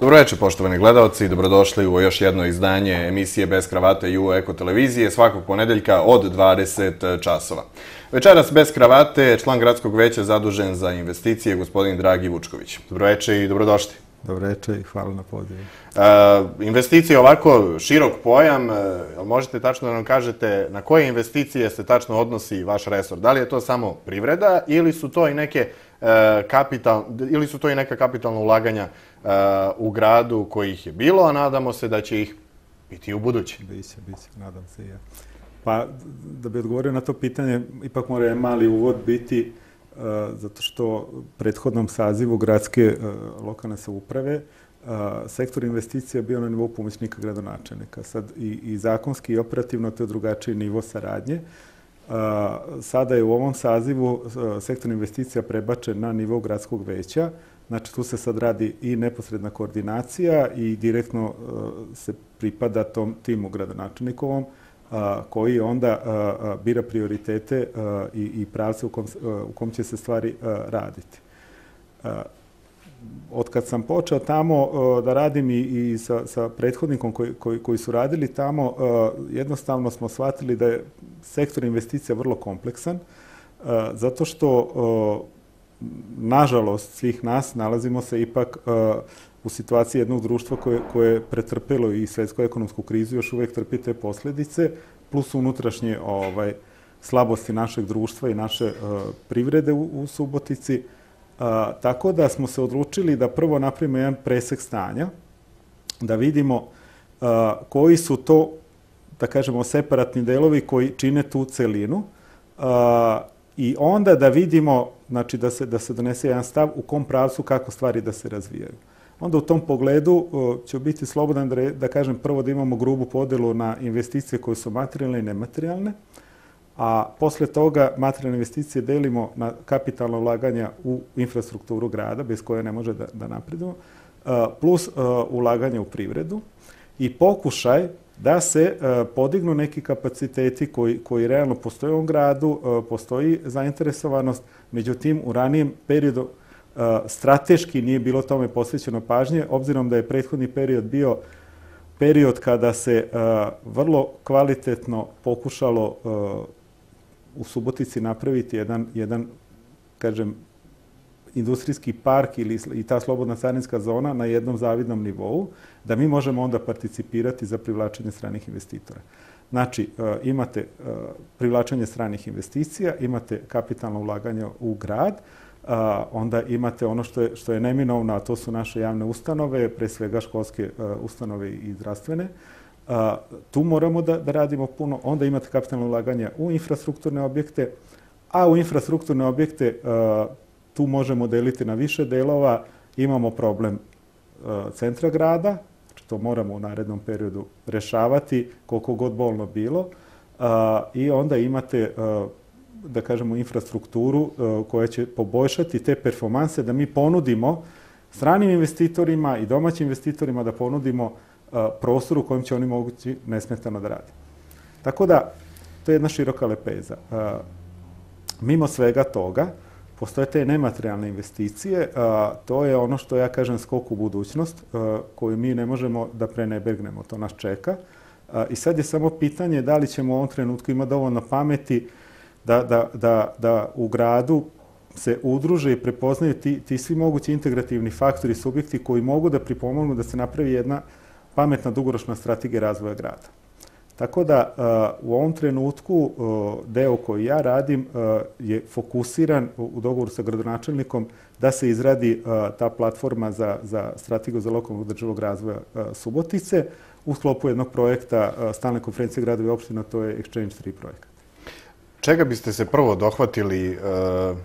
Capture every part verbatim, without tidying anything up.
Dobro večer, poštovani gledalci, dobrodošli u još jedno izdanje emisije Bez kravate i u Eko televizije svakog ponedeljka od dvadeset časova. Večeras bez kravate je član gradskog veća zadužen za investicije, gospodin Dragi Vučković. Dobro večer i dobrodošli. Dobro večer i hvala na pozivu. Investicije ovako širok pojam, možete tačno da nam kažete na koje investicije se tačno odnosi vaš resor? Da li je to samo privreda ili su to i neke kapital, ili su to i neka kapitalna ulaganja u gradu kojih je bilo, a nadamo se da će ih biti u budući? Biće, biće, nadam se i ja. Pa, da bi odgovorio na to pitanje, ipak mora mali uvod biti, zato što u prethodnom sazivu gradske lokalne samouprave sektor investicija bio na nivou pomoćnika gradonačelnika. Sad i, i zakonski i operativno to je drugačiji nivo saradnje. Sada je u ovom sazivu sektor investicija prebačen na nivo gradskog veća. Znači, tu se sad radi i neposredna koordinacija i direktno se pripada tom timu gradonačelnikovom, koji onda bira prioritete i, i pravce u kom, u kom će se stvari raditi. Od kad sam počeo tamo da radim i, i sa, sa prethodnikom koji, koji, koji su radili tamo, jednostavno smo shvatili da je sektor investicija vrlo kompleksan, zato što, nažalost, svih nas nalazimo se ipak u situaciji jednog društva koje, koje je pretrpelo i svetsku ekonomsku krizu, još uvijek trpi te posljedice, plus unutrašnje ovaj, slabosti našeg društva i naše uh, privrede u, u Subotici. Uh, tako da smo se odlučili da prvo napravimo jedan presek stanja, da vidimo uh, koji su to, da kažemo, separatni delovi koji čine tu celinu uh, i onda da vidimo, znači da se, da se donese jedan stav u kom pravcu kako stvari da se razvijaju. Onda u tom pogledu ću biti slobodan da, da kažem prvo da imamo grubu podelu na investicije koje su materijalne i nematerijalne, a posle toga materijalne investicije delimo na kapitalna ulaganja u infrastrukturu grada, bez koje ne može da, da napredujemo, plus ulaganja u privredu i pokušaj da se podignu neki kapaciteti koji, koji realno postoje u ovom gradu, postoji zainteresovanost, međutim u ranijem periodu strateški nije bilo tome posvećeno pažnje, obzirom da je prethodni period bio period kada se vrlo kvalitetno pokušalo u Subotici napraviti jedan, jedan kažem, industrijski park ili i ta slobodna carinska zona na jednom zavidnom nivou, da mi možemo onda participirati za privlačenje stranih investitora. Znači, imate privlačenje stranih investicija, imate kapitalno ulaganje u grad, Uh, onda imate ono što je, što je neminovno, a to su naše javne ustanove, pre svega školske uh, ustanove i zdravstvene. Uh, tu moramo da, da radimo puno. Onda imate kapitalno ulaganje u infrastrukturne objekte, a u infrastrukturne objekte uh, tu možemo deliti na više delova. Imamo problem uh, centra grada, znači to moramo u narednom periodu rešavati, koliko god bolno bilo. Uh, I onda imate uh, da kažemo, infrastrukturu koja će poboljšati te performanse, da mi ponudimo stranim investitorima i domaćim investitorima da ponudimo prostor u kojem će oni mogući nesmetano da rade. Tako da, to je jedna široka lepeza. Mimo svega toga, postoje te nematerijalne investicije, to je ono što ja kažem skok u budućnost, koju mi ne možemo da prenebegnemo, to nas čeka. I sad je samo pitanje da li ćemo u ovom trenutku imati dovoljno pameti Da, da, da, da u gradu se udruže i prepoznaju ti, ti svi mogući integrativni faktori, subjekti koji mogu da pripomognu da se napravi jedna pametna dugoročna strategija razvoja grada. Tako da uh, u ovom trenutku uh, deo koji ja radim uh, je fokusiran u, u dogovoru sa gradonačelnikom da se izradi uh, ta platforma za, za strategiju za lokalnog održivog razvoja uh, Subotice u sklopu jednog projekta uh, stalne konferencije gradova i opština, to je Exchange tri projekat. Čega biste se prvo dohvatili uh,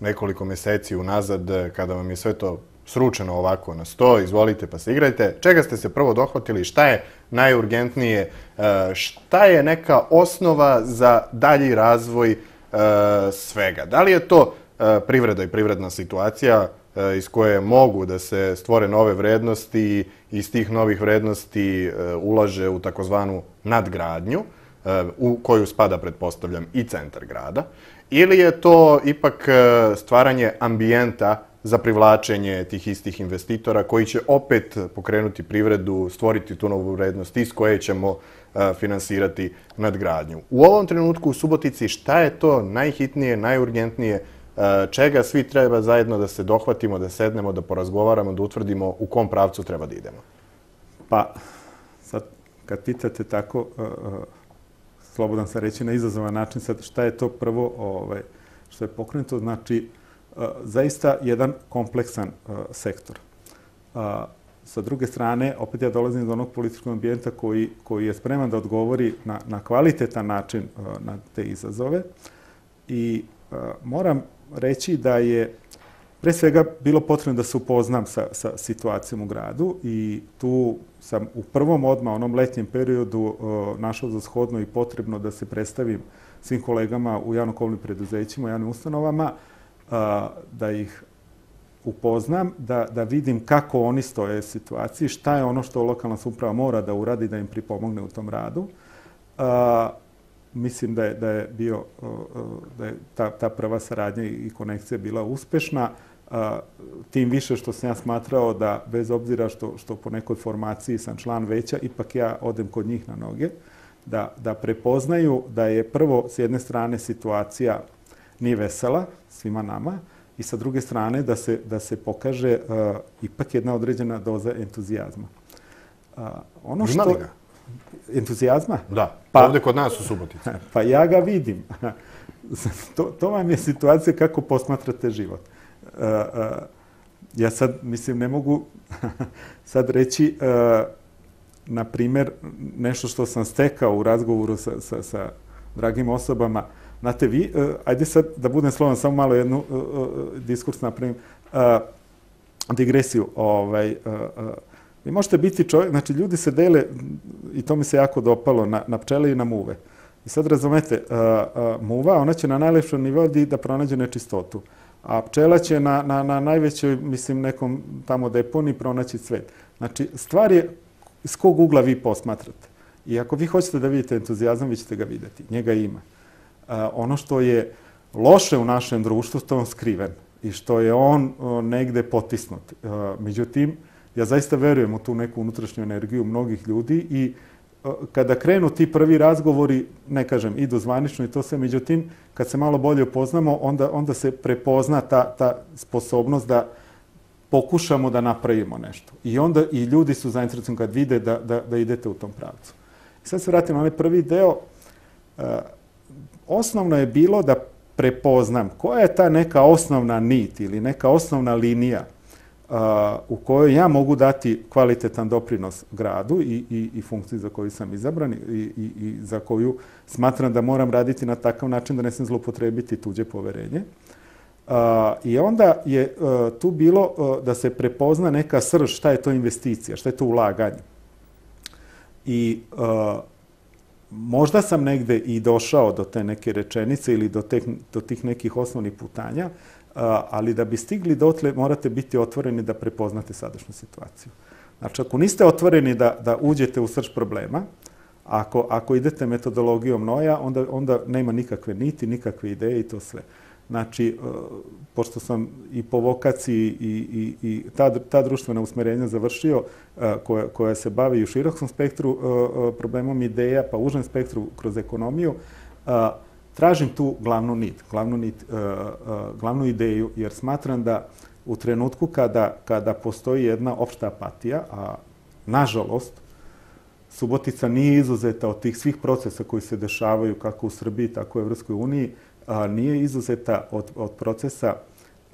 nekoliko meseci unazad kada vam je sve to sručeno ovako na sto, izvolite pa se igrajte. Čega ste se prvo dohvatili? Šta je najurgentnije? Uh, šta je neka osnova za dalji razvoj uh, svega? Da li je to uh, privreda i privredna situacija uh, iz koje mogu da se stvore nove vrednosti i iz tih novih vrednosti uh, ulaže u takozvanu nadgradnju, u koju spada, pretpostavljam, i centar grada, ili je to ipak stvaranje ambijenta za privlačenje tih istih investitora koji će opet pokrenuti privredu, stvoriti tu novu vrednost iz koje ćemo finansirati nadgradnju. U ovom trenutku u Subotici šta je to najhitnije, najurgentnije, čega svi treba zajedno da se dohvatimo, da sednemo, da porazgovaramo, da utvrdimo u kom pravcu treba da idemo? Pa, sad, kad pitate tako, slobodan sam reći na izazovan način, sad šta je to prvo što je pokrenuto, znači zaista jedan kompleksan sektor. Sa druge strane, opet ja dolazim iz onog političkog ambijenta koji, koji je spreman da odgovori na, na kvalitetan način na te izazove. I moram reći da je pre svega bilo potrebno da se upoznam sa, sa situacijom u gradu i tu sam u prvom odmah, onom letnjem periodu, našao za shodno i potrebno da se predstavim svim kolegama u javno-komunalnim preduzećima, u javnim ustanovama, da ih upoznam, da, da vidim kako oni stoje u situaciji, šta je ono što lokalna samouprava mora da uradi da im pripomogne u tom radu. A, mislim da je, da je, bio, da je ta, ta prva saradnja i konekcija bila uspešna, a, tim više što sam ja smatrao da, bez obzira što, što po nekoj formaciji sam član veća, ipak ja odem kod njih na noge, da, da prepoznaju da je prvo s jedne strane situacija nije vesela svima nama, i sa druge strane da se, da se pokaže uh, ipak jedna određena doza entuzijazma. Uh, ono što... Ima li ga? Entuzijazma? Da, pa, ovdje kod nas u Subotici. Pa ja ga vidim. to, to vam je situacija kako posmatrate život. Uh, uh, ja sad, mislim, ne mogu sad reći, uh, na primjer, nešto što sam stekao u razgovoru sa, sa, sa dragim osobama. Znate, vi, uh, ajde sad da budem slovan, samo malo jednu uh, uh, diskurs napravim, uh, digresiju. Ovaj, uh, uh, vi možete biti čovjek, znači ljudi se dele, i to mi se jako dopalo, na, na pčele i na muve. I sad razumete, uh, uh, muva, ona će na najlepšom nivou da pronađe nečistotu, a pčela će na, na, na najvećoj, mislim, nekom tamo deponi pronaći cvet. Znači, stvar je s kog ugla vi posmatrate. I ako vi hoćete da vidite entuzijazam, vi ćete ga vidjeti. Njega ima. Uh, ono što je loše u našem društvu, to je on skriven i što je on uh, negde potisnut. Uh, međutim, ja zaista verujem u tu neku unutrašnju energiju mnogih ljudi i uh, kada krenu ti prvi razgovori, ne kažem, idu zvanično i to sve, međutim, kad se malo bolje upoznamo, onda, onda se prepozna ta, ta sposobnost da pokušamo da napravimo nešto. I onda i ljudi su zainteresovani kad vide da, da, da idete u tom pravcu. I sad se vratim na onaj prvi deo. Uh, Osnovno je bilo da prepoznam koja je ta neka osnovna nit ili neka osnovna linija uh, u kojoj ja mogu dati kvalitetan doprinos gradu i, i, i funkciji za koju sam izabran i, i, i za koju smatram da moram raditi na takav način da ne sam zloupotrebiti tuđe poverenje. Uh, I onda je uh, tu bilo uh, da se prepozna neka srž šta je to investicija, šta je to ulaganje. I uh, možda sam negde i došao do te neke rečenice ili do, te, do tih nekih osnovnih putanja, ali da bi stigli dotle morate biti otvoreni da prepoznate sadašnju situaciju. Znači, ako niste otvoreni da, da uđete u srž problema, ako, ako idete metodologijom noja, onda, onda nema nikakve niti, nikakve ideje i to sve. Znači, pošto sam i po vokaciji i, i, i ta, ta društvena usmerenja završio, koja, koja se bavi u širokom spektru problemom ideja, pa užem spektru kroz ekonomiju, tražim tu glavnu nit, glavnu, nit, glavnu ideju, jer smatram da u trenutku kada, kada postoji jedna opšta apatija, a nažalost, Subotica nije izuzeta od tih svih procesa koji se dešavaju kako u Srbiji, tako i u Evropskoj uniji, a, nije izuzeta od, od procesa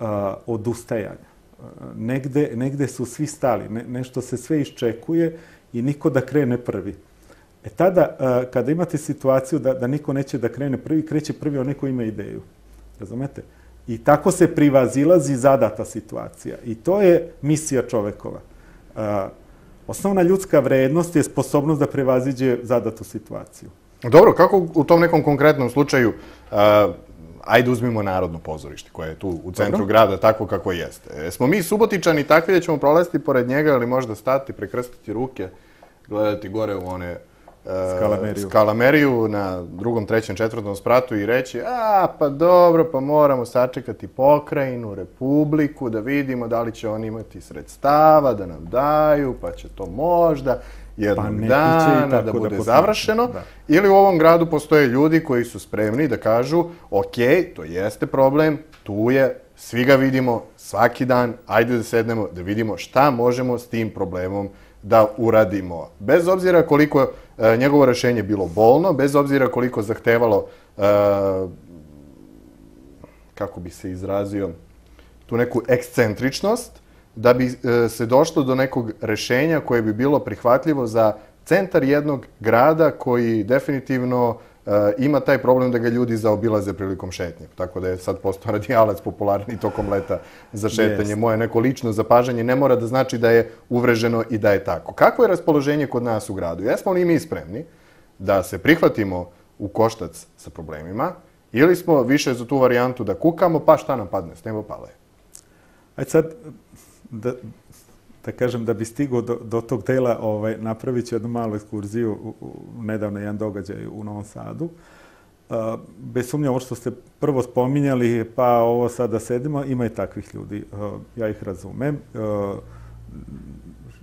a, odustajanja. A, negde, negde su svi stali, ne, nešto se sve iščekuje i niko da krene prvi. E tada, a, kada imate situaciju da, da niko neće da krene prvi, kreće prvi onaj ko ima ideju. Razumete? I tako se privazilazi zadata situacija. I to je misija čovekova. A, osnovna ljudska vrednost je sposobnost da prevaziđe zadatu situaciju. Dobro, kako u tom nekom konkretnom slučaju, uh, ajde uzmimo Narodno pozorište koje je tu u centru Dobro. grada tako kako jeste. Smo mi Subotičani takvi da ćemo prolaziti pored njega ili možda stati, prekrstiti ruke, gledati gore u one Skalameriju. skalameriju na drugom, trećem, četvrtom spratu i reći a, pa dobro, pa moramo sačekati pokrajinu, republiku, da vidimo da li će oni imati sredstava, da nam daju, pa će to možda jednog Pa dana da bude završeno. Ili u ovom gradu postoje ljudi koji su spremni da kažu ok, to jeste problem, tu je, svi ga vidimo svaki dan, ajde da sednemo, da vidimo šta možemo s tim problemom da uradimo. Bez obzira koliko e, njegovo rešenje bilo bolno, bez obzira koliko zahtevalo, e, kako bi se izrazio, tu neku ekscentričnost, da bi e, se došlo do nekog rešenja koje bi bilo prihvatljivo za centar jednog grada koji definitivno e, ima taj problem da ga ljudi zaobilaze prilikom šetnje. Tako da je sad postao radijalac popularni tokom leta za šetanje. Yes. Moje neko lično zapažanje ne mora da znači da je uvreženo i da je tako. Kakvo je raspoloženje kod nas u gradu? Jesmo li mi spremni da se prihvatimo u koštac sa problemima ili smo više za tu varijantu da kukamo, pa šta nam padne, s nebo pale? Ajde sad, da, da kažem, da bi stigao do, do tog dela, ovaj, napravit ću jednu malu ekskurziju u, u nedavno jedan događaj u Novom Sadu. Uh, bez sumnja, ovo što ste prvo spominjali, pa ovo sada sedimo, ima i takvih ljudi. Uh, ja ih razumem. Uh,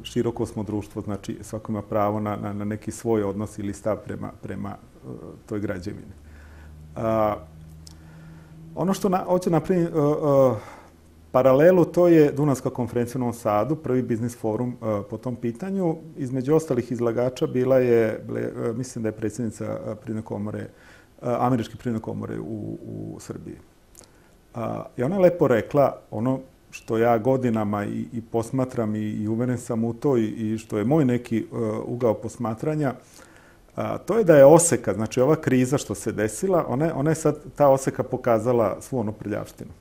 široko smo društvo, znači svako ima pravo na, na, na neki svoj odnos ili stav prema, prema uh, toj građevini. Uh, ono što na, hoću napraviti, uh, uh, paralelu, to je Dunavska konferencija u Novom Sadu, prvi biznis forum uh, po tom pitanju. Između ostalih izlagača bila je, ble, uh, mislim da je predsjednica uh, Privredne komore, uh, Američke privredne komore u, u Srbiji. Uh, I ona je lepo rekla ono što ja godinama i, i posmatram i, i uveren sam u to i, i što je moj neki uh, ugao posmatranja, uh, to je da je oseka, znači ova kriza što se desila, ona, ona je sad, ta oseka pokazala svu onu prljavštinu.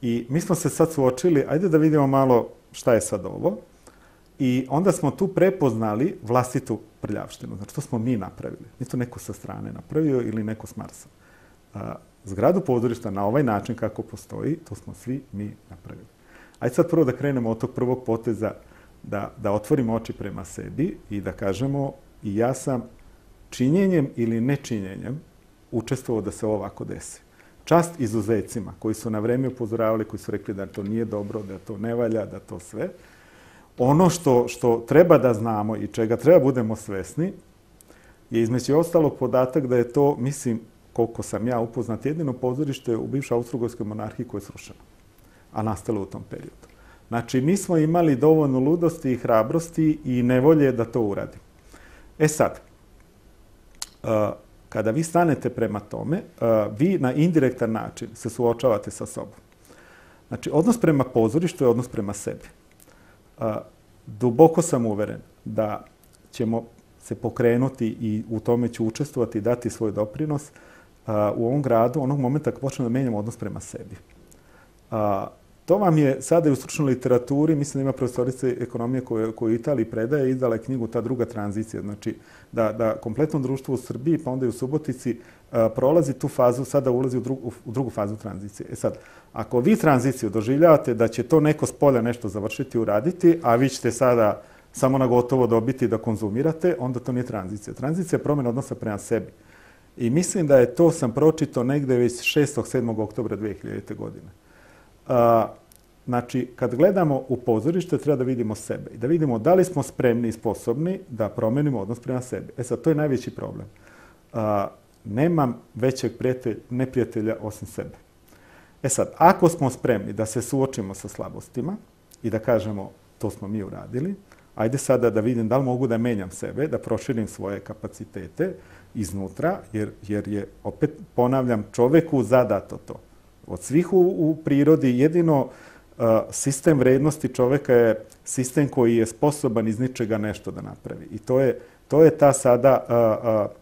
I mi smo se sad suočili, ajde da vidimo malo šta je sad ovo. I onda smo tu prepoznali vlastitu prljavštinu. Znači, to smo mi napravili. Nije to neko sa strane napravio ili neko s Marsa. A, zgradu pozorišta na ovaj način kako postoji, to smo svi mi napravili. Ajde sad prvo da krenemo od tog prvog poteza, da, da otvorimo oči prema sebi i da kažemo i ja sam činjenjem ili nečinjenjem učestvovao da se ovo ovako desi. Čast izuzecima koji su na vreme upozoravali, koji su rekli da to nije dobro, da to ne valja, da to sve. Ono što, što treba da znamo i čega treba budemo svesni je između ostalog podatak da je to, mislim, koliko sam ja upoznat, jedino pozorište u bivšoj Austro-Ugarskoj monarhiji koje je srušeno, a nastalo u tom periodu. Znači, mi smo imali dovoljno ludosti i hrabrosti i nevolje da to uradimo. E sad, uh, kada vi stanete prema tome, vi na indirektan način se suočavate sa sobom. Znači, odnos prema pozorištu je odnos prema sebi. Duboko sam uveren da ćemo se pokrenuti i u tome ću učestvovati i dati svoj doprinos u ovom gradu onog momenta kad počnemo da menjamo odnos prema sebi. To vam je sada i u stručnoj literaturi, mislim da ima profesorice ekonomije koju u Italiji predaje, izdala je knjigu Ta druga tranzicija. Znači, da, da kompletno društvo u Srbiji, pa onda i u Subotici, a, prolazi tu fazu, sada ulazi u drugu, u drugu fazu tranzicije. E sad, ako vi tranziciju doživljavate da će to neko s polja nešto završiti, uraditi, a vi ćete sada samo na gotovo dobiti da konzumirate, onda to nije tranzicija. Tranzicija je promjena odnosa prema sebi. I mislim da je to, sam pročitao negde već šestog sedmog oktobra dve hiljadite. godine. A, znači, kad gledamo u pozorište, treba da vidimo sebe i da vidimo da li smo spremni i sposobni da promenimo odnos prema sebi. E sad, to je najveći problem. A, nemam većeg prijatelj, neprijatelja osim sebe. E sad, ako smo spremni da se suočimo sa slabostima i da kažemo to smo mi uradili, ajde sada da vidim da li mogu da menjam sebe, da proširim svoje kapacitete iznutra, jer, jer je, opet ponavljam, čoveku zadato to. Od svih u, u prirodi jedino uh, sistem vrednosti čoveka je sistem koji je sposoban iz ničega nešto da napravi. I to je, to je ta sada uh, uh,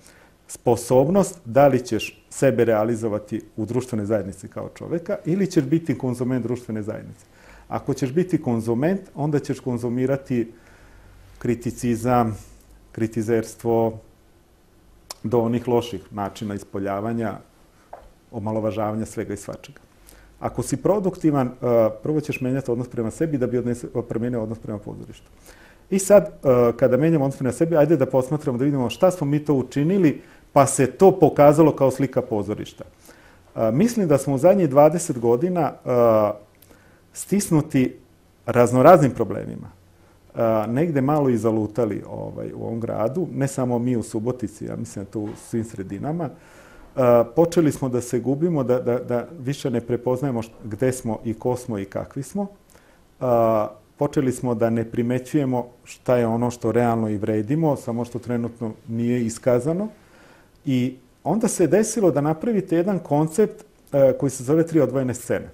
sposobnost da li ćeš sebe realizovati u društvenoj zajednici kao čoveka ili ćeš biti konzument društvene zajednice. Ako ćeš biti konzument, onda ćeš konzumirati kriticizam, kritizerstvo do onih loših načina ispoljavanja, omalovažavanja svega i svačega. Ako si produktivan, prvo ćeš menjati odnos prema sebi da bi odnese, promenio odnos prema pozorištu. I sad, kada menjamo odnos prema sebi, ajde da posmatramo, da vidimo šta smo mi to učinili, pa se to pokazalo kao slika pozorišta. Mislim da smo u zadnjih dvadeset godina stisnuti raznoraznim problemima. Negde malo i zalutali ovaj, u ovom gradu, ne samo mi u Subotici, ja mislim da to u svim sredinama. Počeli smo da se gubimo, da, da, da više ne prepoznajemo gde smo i ko smo i kakvi smo. Počeli smo da ne primećujemo šta je ono što realno i vredimo, samo što trenutno nije iskazano. I onda se desilo da napravite jedan koncept koji se zove tri odvojene scene.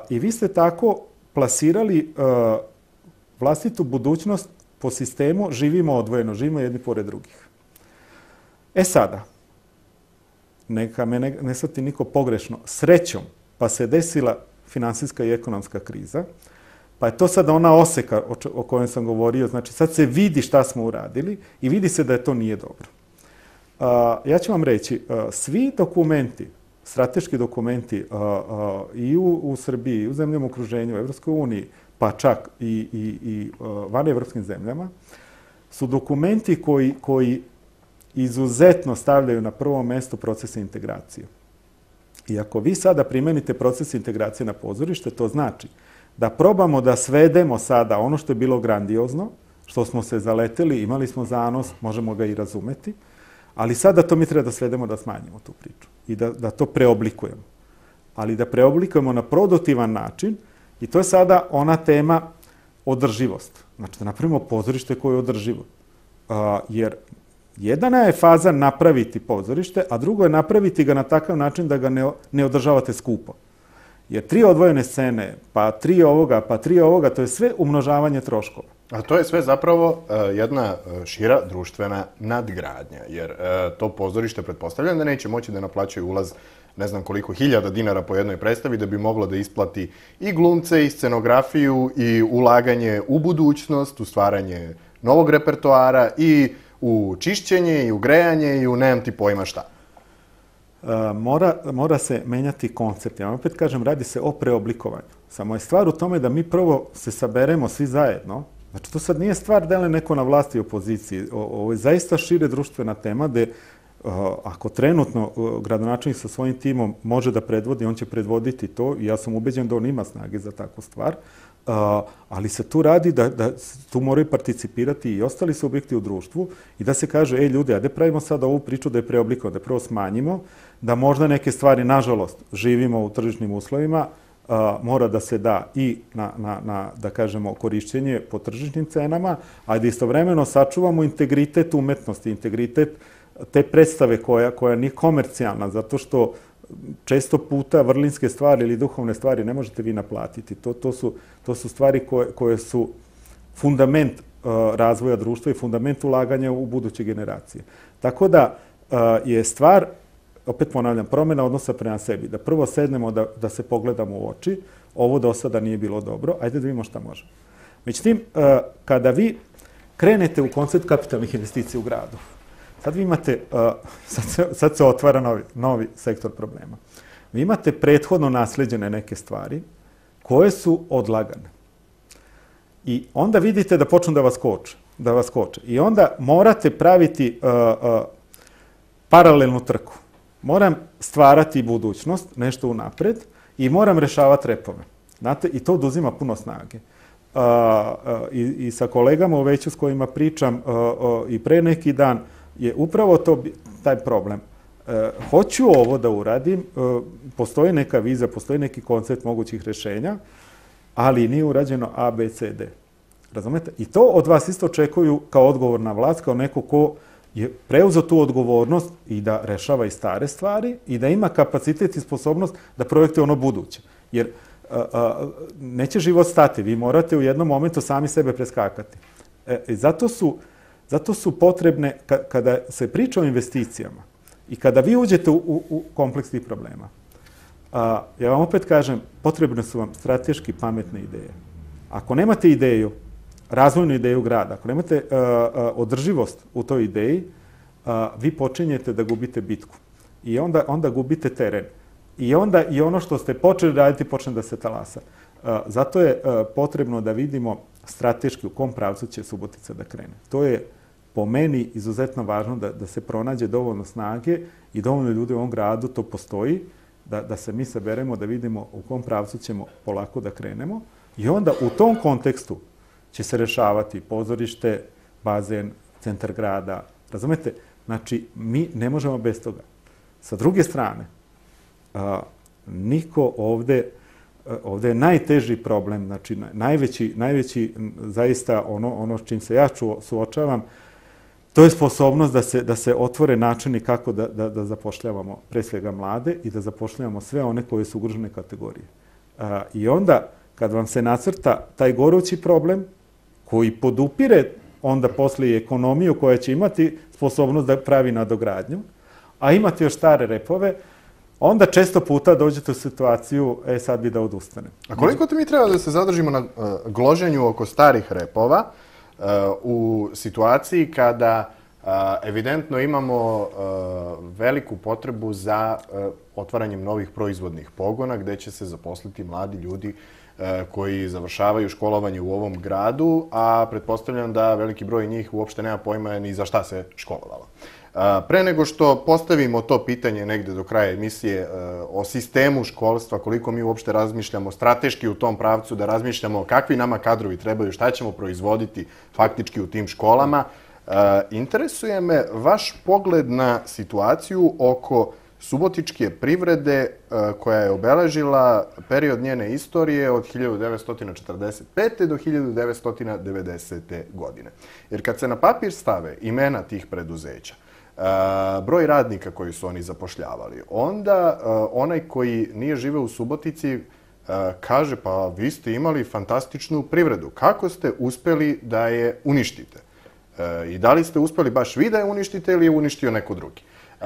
I vi ste tako plasirali vlastitu budućnost po sistemu živimo odvojeno, živimo jedni pored drugih. E sada, neka me ne, ne shvati niko pogrešno, srećom, pa se desila finansijska i ekonomska kriza, pa je to sada ona oseka o, o kojoj sam govorio, znači sad se vidi šta smo uradili i vidi se da je to nije dobro. A, ja ću vam reći, a, svi dokumenti, strateški dokumenti a, a, i u, u Srbiji, i u zemljama okruženju, u Evropskoj uniji, pa čak i, i, i van evropskim zemljama, su dokumenti koji, koji izuzetno stavljaju na prvo mesto procese integracije. I ako vi sada primenite proces integracije na pozorište, to znači da probamo da svedemo sada ono što je bilo grandiozno, što smo se zaleteli, imali smo zanos, možemo ga i razumeti, ali sada to mi treba da svedemo, da smanjimo tu priču i da, da to preoblikujemo. Ali da preoblikujemo na produktivan način i to je sada ona tema održivost. Znači da napravimo pozorište koje je održivo. A, jer jedna je faza napraviti pozorište, a drugo je napraviti ga na takav način da ga ne, ne održavate skupo. Jer tri odvojene scene, pa tri ovoga, pa tri ovoga, to je sve umnožavanje troškova. A to je sve zapravo uh, jedna šira društvena nadgradnja, jer uh, to pozorište pretpostavljam da neće moći da naplaćaju ulaz ne znam koliko hiljada dinara po jednoj predstavi da bi moglo da isplati i glumce, i scenografiju, i ulaganje u budućnost, u stvaranje novog repertoara, i u čišćenje, i u grejanje, i u nemam ti pojma šta. Uh, mora, mora se menjati koncept. Ja vam opet kažem, radi se o preoblikovanju. Samo je stvar u tome da mi prvo se saberemo svi zajedno. Znači, to sad nije stvar da li neko na vlasti i opoziciji. O, ovo je zaista šire društvena tema gde uh, ako trenutno uh, gradonačelnik sa svojim timom može da predvodi, on će predvoditi to i ja sam ubeđen da on ima snage za takvu stvar. Uh, ali se tu radi da, da tu moraju participirati i ostali subjekti u društvu i da se kaže, ej ljudi, ajde pravimo sad ovu priču da je preoblikujemo, da prvo smanjimo, da možda neke stvari, nažalost, živimo u tržišnim uslovima, uh, mora da se da i na, na, na, da kažemo, korišćenje po tržišnim cenama, a da istovremeno sačuvamo integritet umetnosti, integritet te predstave koja, koja nije komercijalna, zato što često puta vrlinske stvari ili duhovne stvari ne možete vi naplatiti. To, to, su, to su stvari koje, koje su fundament uh, razvoja društva i fundament ulaganja u buduće generacije. Tako da uh, je stvar, opet ponavljam, promjena odnosa prema sebi. Da prvo sednemo, da, da se pogledamo u oči. Ovo do sada nije bilo dobro. Ajde da vidimo šta možemo. Međutim, uh, kada vi krenete u koncept kapitalnih investicija u gradu, sad vi imate, uh, sad, se, sad se otvara novi, novi sektor problema. Vi imate prethodno nasleđene neke stvari koje su odlagane. I onda vidite da počnu da vas koče. Da vas koče. I onda morate praviti uh, uh, paralelnu trku. Moram stvarati budućnost, nešto unapred, i moram rešavati repove. Znate, i to oduzima puno snage. Uh, uh, i, I sa kolegama u veću s kojima pričam uh, uh, i pre neki dan, je upravo to taj problem. E, hoću ovo da uradim, e, postoji neka vizija, postoji neki koncept mogućih rešenja, ali nije urađeno A, B, C, D. Razumete? I to od vas isto očekuju kao odgovorna vlast, kao neko ko je preuzeo tu odgovornost i da rešava i stare stvari i da ima kapacitet i sposobnost da projektuje ono buduće. Jer a, a, neće život stati, vi morate u jednom momentu sami sebe preskakati. E, i zato su Zato su potrebne, kada se priča o investicijama i kada vi uđete u, u, u kompleks tih problema, a, ja vam opet kažem, potrebne su vam strateški pametne ideje. Ako nemate ideju, razvojnu ideju grada, ako nemate a, a, održivost u toj ideji, a, vi počinjete da gubite bitku. I onda, onda gubite teren. I onda i ono što ste počeli raditi počne da se talasa. Zato je potrebno da vidimo strateški u kom pravcu će Subotica da krene. To je po meni izuzetno važno da, da se pronađe dovoljno snage i dovoljno ljudi u ovom gradu, to postoji, da, da se mi saberemo, da vidimo u kom pravcu ćemo polako da krenemo i onda u tom kontekstu će se rešavati pozorište, bazen, centar grada. Razumete? Znači, mi ne možemo bez toga. Sa druge strane, a, niko ovde, ovde je najteži problem, znači najveći, najveći zaista ono, ono s čim se ja ču, suočavam, to je sposobnost da se, da se otvore načini kako da, da, da zapošljavamo pre svega mlade i da zapošljavamo sve one koje su ugrožene kategorije. A, I onda, kad vam se nacrta taj gorući problem, koji podupire onda posle i ekonomiju koja će imati sposobnost da pravi nadogradnju, a imate još stare repove, onda često puta dođete u situaciju, e sad bi da odustanem. A koliko ti mi treba da se zadržimo na uh, gloženju oko starih repova uh, u situaciji kada uh, evidentno imamo uh, veliku potrebu za uh, otvaranjem novih proizvodnih pogona gde će se zaposliti mladi ljudi koji završavaju školovanje u ovom gradu, a pretpostavljam da veliki broj njih uopšte nema pojma ni za šta se školovalo. Pre nego što postavimo to pitanje negde do kraja emisije o sistemu školstva, koliko mi uopšte razmišljamo strateški u tom pravcu, da razmišljamo kakvi nama kadrovi trebaju, šta ćemo proizvoditi faktički u tim školama, interesuje me vaš pogled na situaciju oko subotičke privrede koja je obeležila period njene istorije od hiljadu devetsto četrdeset pete. do hiljadu devetsto devedesete. godine. Jer kad se na papir stave imena tih preduzeća, broj radnika koji su oni zapošljavali, onda onaj koji nije živeo u Subotici kaže pa vi ste imali fantastičnu privredu. Kako ste uspeli da je uništite? I da li ste uspeli baš vi da je uništite ili je uništio neko drugi? Uh,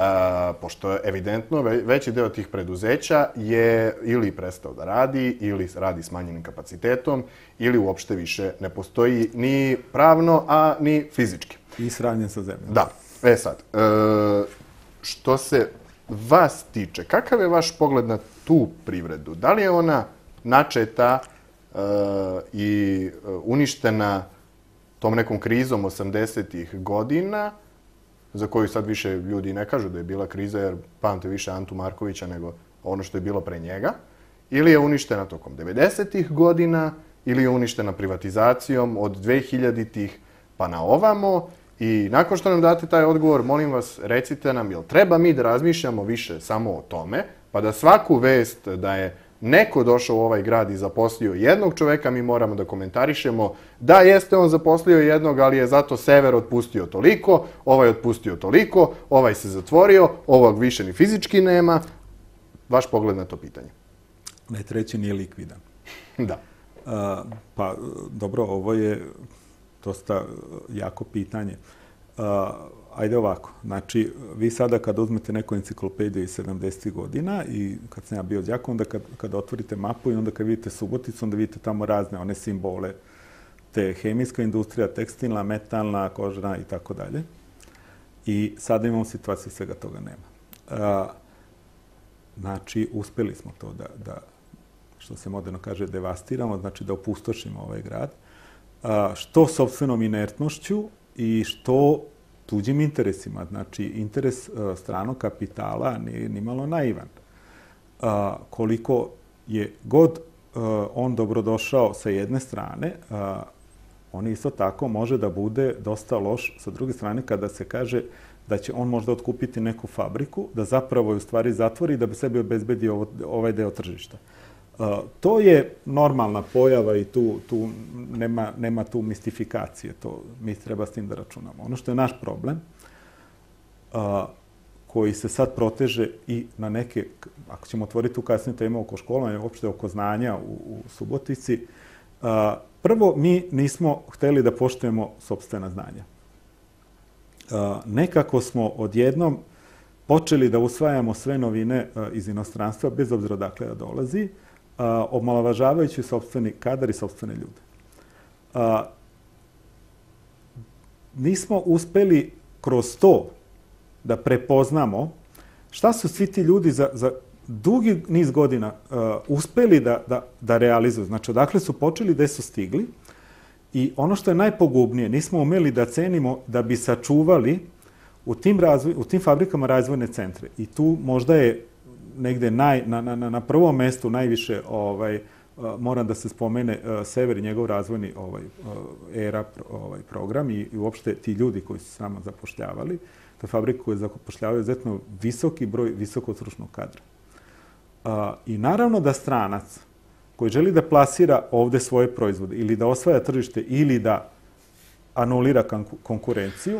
pošto evidentno veći deo tih preduzeća je ili prestao da radi, ili radi smanjenim kapacitetom, ili uopšte više ne postoji ni pravno, a ni fizički. I sravnjen sa zemljom. Da. E sad, uh, što se vas tiče, kakav je vaš pogled na tu privredu? Da li je ona načeta uh, i uništena tom nekom krizom osamdesetih godina, za koju sad više ljudi ne kažu da je bila kriza, jer pamte više Antu Markovića nego ono što je bilo pre njega, ili je uništena tokom devedesetih godina, ili je uništena privatizacijom od dvehiljaditih pa na ovamo. I nakon što nam date taj odgovor, molim vas, recite nam, jel treba mi da razmišljamo više samo o tome, pa da svaku vest da je neko došao u ovaj grad i zaposlio jednog čoveka, mi moramo da komentarišemo da jeste on zaposlio jednog, ali je zato Sever otpustio toliko, ovaj otpustio toliko, ovaj se zatvorio, ovog više ni fizički nema. Vaš pogled na to pitanje? Ne, treći nije likvidan. Da. A, pa, dobro, ovo je dosta jako pitanje. A, Ajde ovako, znači, vi sada kad uzmete neku enciklopediju iz sedamdesetih godina i kad sam ja bio đak, onda kad, kad otvorite mapu i onda kad vidite Suboticu, onda vidite tamo razne one simbole, te hemijska industrija, tekstilna, metalna, kožna i tako dalje. I sada imamo situaciju, svega toga nema. A, znači, uspeli smo to da, da, što se moderno kaže, devastiramo, znači da opustošimo ovaj grad, a, što sopstvenom inertnošću i što tuđim interesima. Znači, interes uh, stranog kapitala nije nimalo naivan. Uh, koliko je god uh, on dobrodošao sa jedne strane, uh, on isto tako može da bude dosta loš sa druge strane kada se kaže da će on možda otkupiti neku fabriku, da zapravo je u stvari zatvori da bi sebi obezbedio ovo, ovaj deo tržišta. Uh, to je normalna pojava i tu, tu nema, nema tu mistifikacije. To, mi treba s tim da računamo. Ono što je naš problem, uh, koji se sad proteže i na neke, ako ćemo otvoriti tu kasnije temu oko školovanja, uopšte oko znanja u, u Subotici, uh, prvo, mi nismo hteli da poštujemo sopstvena znanja. Uh, nekako smo odjednom počeli da usvajamo sve novine uh, iz inostranstva, bez obzira dakle da dolazi, Uh, omalovažavajući sopstveni kadar i sopstvene ljude. Uh, nismo uspeli kroz to da prepoznamo šta su svi ti ljudi za, za dugi niz godina uh, uspeli da, da, da realizuju. Znači, odakle su počeli, gde su stigli. I ono što je najpogubnije, nismo umeli da cenimo da bi sačuvali u tim, razvoj, u tim fabrikama razvojne centre. I tu možda je negde naj, na, na, na prvom mestu najviše ovaj, uh, moram da se spomene uh, Sever i njegov razvojni ovaj, uh, era ovaj, program i, i uopšte ti ljudi koji su s nama zapošljavali. To je fabrika koja zapošljavaju izuzetno visoki broj visokog stručnog kadra. Uh, I naravno da stranac koji želi da plasira ovde svoje proizvode ili da osvaja tržište ili da anulira konkurenciju,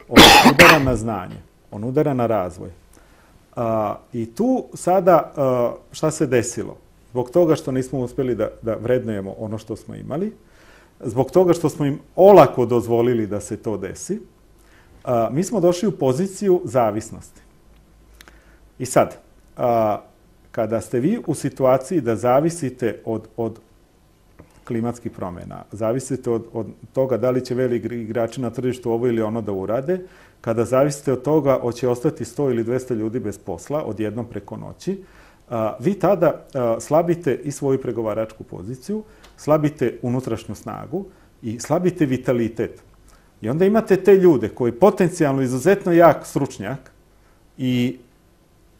on udara na znanje, on udara na razvoj. Uh, I tu sada uh, šta se desilo? Zbog toga što nismo uspeli da, da vrednujemo ono što smo imali, zbog toga što smo im olako dozvolili da se to desi, uh, mi smo došli u poziciju zavisnosti. I sad, uh, kada ste vi u situaciji da zavisite od, od klimatskih promjena, zavisite od, od toga da li će veliki igrači na tržištu ovo ili ono da urade, kada zavisite od toga hoće ostati sto ili dvesta ljudi bez posla odjednom preko noći, a, vi tada a, slabite i svoju pregovaračku poziciju, slabite unutrašnju snagu i slabite vitalitet. I onda imate te ljude koji potencijalno izuzetno jak stručnjak i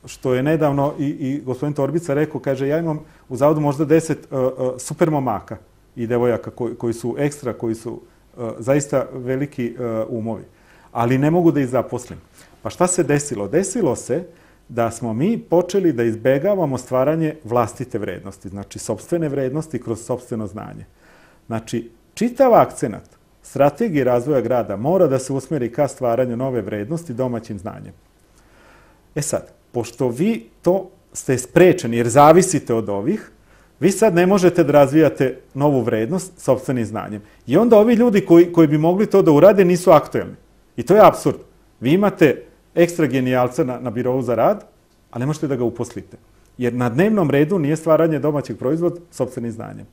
što je nedavno i, i gospodin Torbica rekao, kaže, ja imam u zavodu možda deset uh, uh, super momaka i devojaka koji, koji su ekstra, koji su uh, zaista veliki uh, umovi, ali ne mogu da ih zaposlim. Pa šta se desilo? Desilo se da smo mi počeli da izbegavamo stvaranje vlastite vrednosti, znači sopstvene vrednosti kroz sopstveno znanje. Znači, čitav akcenat strategije razvoja grada mora da se usmeri ka stvaranju nove vrednosti domaćim znanjem. E sad, pošto vi to ste sprečeni jer zavisite od ovih, vi sad ne možete da razvijate novu vrednost sopstvenim znanjem. I onda ovi ljudi koji, koji bi mogli to da urade nisu aktuelni. I to je apsurd. Vi imate ekstra genijalca na, na birovu za rad, a ne možete da ga uposlite. Jer na dnevnom redu nije stvaranje domaćeg proizvoda sopstvenim znanjem.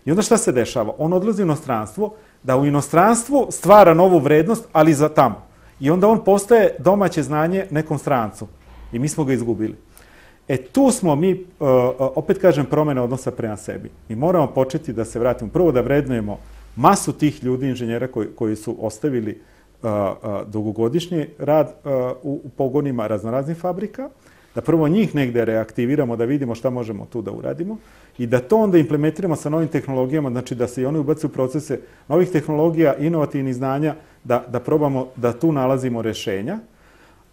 I onda šta se dešava? On odlazi u inostranstvo, da u inostranstvu stvara novu vrednost, ali za tamo. I onda on postaje domaće znanje nekom strancu. I mi smo ga izgubili. E tu smo mi, opet kažem, promjene odnosa prema sebi. Mi moramo početi da se vratimo. Prvo da vrednujemo masu tih ljudi, inženjera koji, koji su ostavili uh, uh, dugogodišnji rad uh, u, u pogonima raznoraznih fabrika, da prvo njih negde reaktiviramo, da vidimo šta možemo tu da uradimo i da to onda implementiramo sa novim tehnologijama, znači da se i oni ubacuju u procese novih tehnologija, inovativnih znanja, da, da probamo da tu nalazimo rešenja.